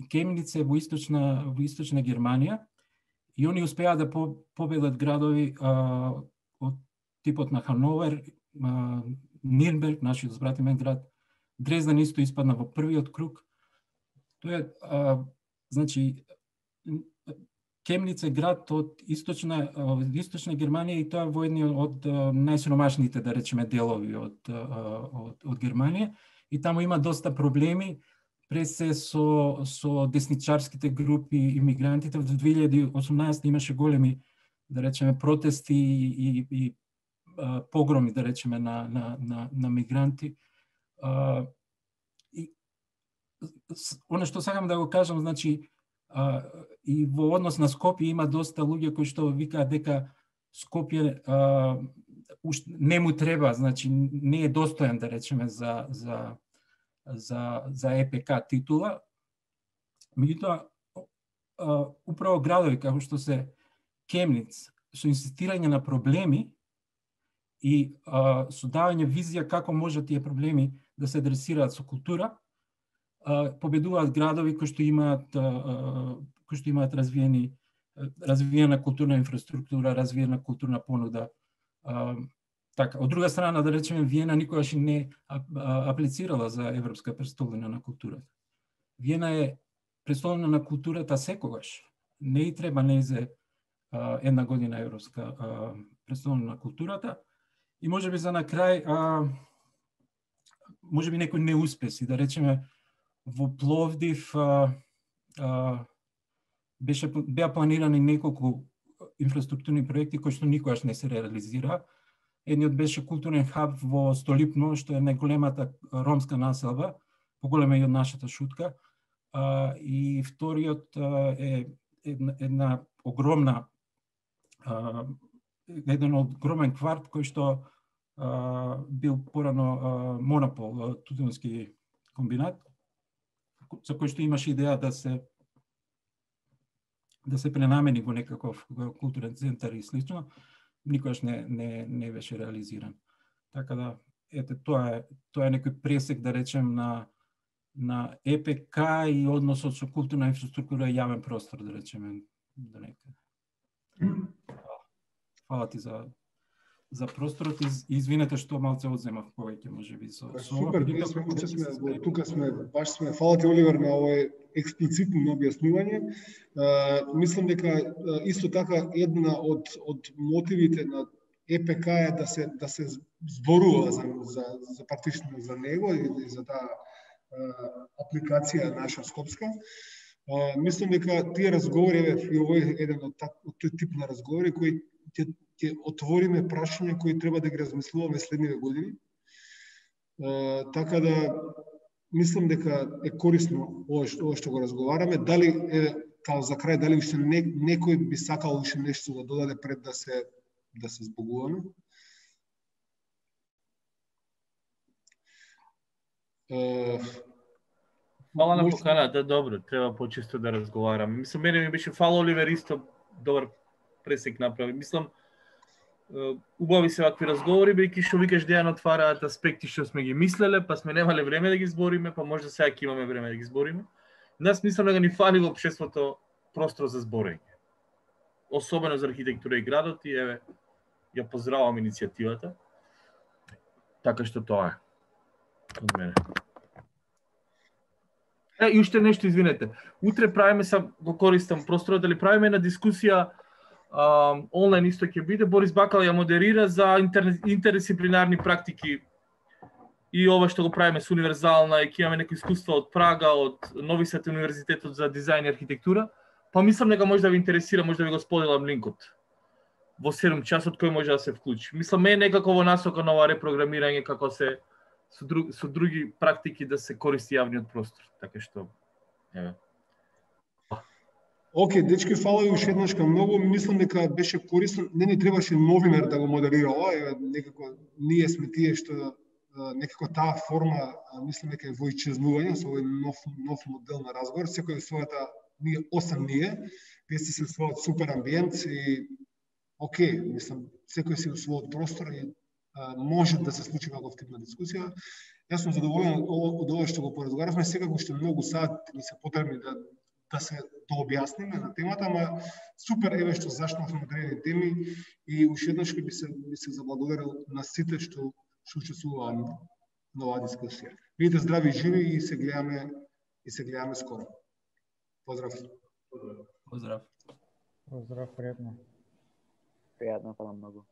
Кемниц е во источна Германија и они успеа да победат градови од типот на Хановер, Нирнберг, нашиот збратимен град, Дрезден исто испадна во првиот круг. Тоа е, значи, Кемниц е град од источна Германија и тоа е во едни од најсиромашните, да речеме, делови од Германија. И таму има доста проблеми, пред се со десничарските групи имигрантите. Во 2018 имаше големи, да речеме, протести и погроми, да речеме, на мигранти. И оно што сакам да го кажам, значи, и во однос на Скопје има доста луѓе кои што викаат дека Скопје не му треба, значи не е достоен, да речеме, за ЕПК титула. Меѓутоа, управо градови како што се Кемниц, со инсистирање на проблеми и со давање визија како може тие проблеми да се адресираат со култура, победуваат градови кои што имаат развиена културна инфраструктура, развиена културна понуда. Така, од друга страна, да речеме, Виена никогаш не аплицирала за Европска престолнина на културата. Виена е престолнина на културата секогаш. Не и треба нејзе една година Европска престолнина на културата. И можеби за на крај, можеби некои неуспеси, да речеме, во Пловдив беа планирани неколку инфраструктурни проекти кои што никогаш не се реализира. Едниот беше културен хаб во Столипно, што е најголемата ромска населба, поголема и од нашата Шутка. И вториот е една огромна, еден огромен кварт кој што бил порано монопол, тутунски комбинат, за кој што имаше идеја да се пренамени во некаков културен центар и слично, никогаш не беше реализиран. Така да, ете, тоа е некој пресек, да речем, на ЕПК и односот со културна инфраструктура и јавен простор, да речеме, до некаде. Фала ти за просторот и извинете што малце одземав повеќе, можеби со супер, тука сме, баш сме, фала ти, Оливер, на овој експлицитно објаснување. Мислам дека исто така една од мотивите на ЕПК е да се зборува за практично за него и за таа апликација наша скопска. Мислам дека тие разговори, и овој еден од тој тип на разговори кои ќе отвориме прашања кои треба да ги размислуваме следниве години. Така да мислам дека е корисно ова што го разговараме. Дали као за крај, дали уште некој би сакал уште нешто да додаде пред да се збогуваме? Фала на поканата, добро, треба почесто да разговараме. Мислам, мене ми беше фала, Оливер исто добар пресек направи. Мислам, убави се вакви разговори, бејќи што викаш Дејан отвараат аспекти што сме ги мислеле, па сме немале време да ги збориме, па може сега ќе имаме време да ги збориме. Нас мислам дека ни фали во општеството простор за зборење. Особено за архитектура и градот, и еве, ја поздравам иницијативата. Така што тоа е од мене. И уште нешто, извинете. Утре правиме, го користам просторот, дали правиме една дискусија онлайн исто ќе биде. Борис Бакал ја модерира за интердисциплинарни практики и ова што го правиме со универзална, и ќе имаме некои искуства од Прага, од Нови Сад универзитетот за дизајн и архитектура. Па мислам дека може да ви интересира, може да ви го споделам линкот во 7 часот кој може да се вклучи. Мислам е некако во насока на ова репрограмирање како се со други практики да се користи јавниот простор. Така што еве. Океј, дечки, фала и уште еднаш кај многу. Мислам дека беше корисно. Не ни требаше новинар да го модерира ова. Некако ние сме тие што некако таа форма, мислам дека е во исчезнување со овој нов модел на разговор. Секој својата, ние 8 ние, вие сте се својот супер амбиент и океј, мислам, секој си во својот простор и може да се случи ваков тип на дискусија. Јас сум задоволен од ова што го поразговаравме. Секако уште многу сати ни се потребни да се објасниме на темата, ама супер еве што зашнавме одредени теми и уште еднаш би се заблагодарил на сите што учествуваа на оваа дискусија. Бидете здрави и живи и се гледаме скоро. Поздрав. Поздрав. Поздрав, пријатно. Пријатно, фала многу.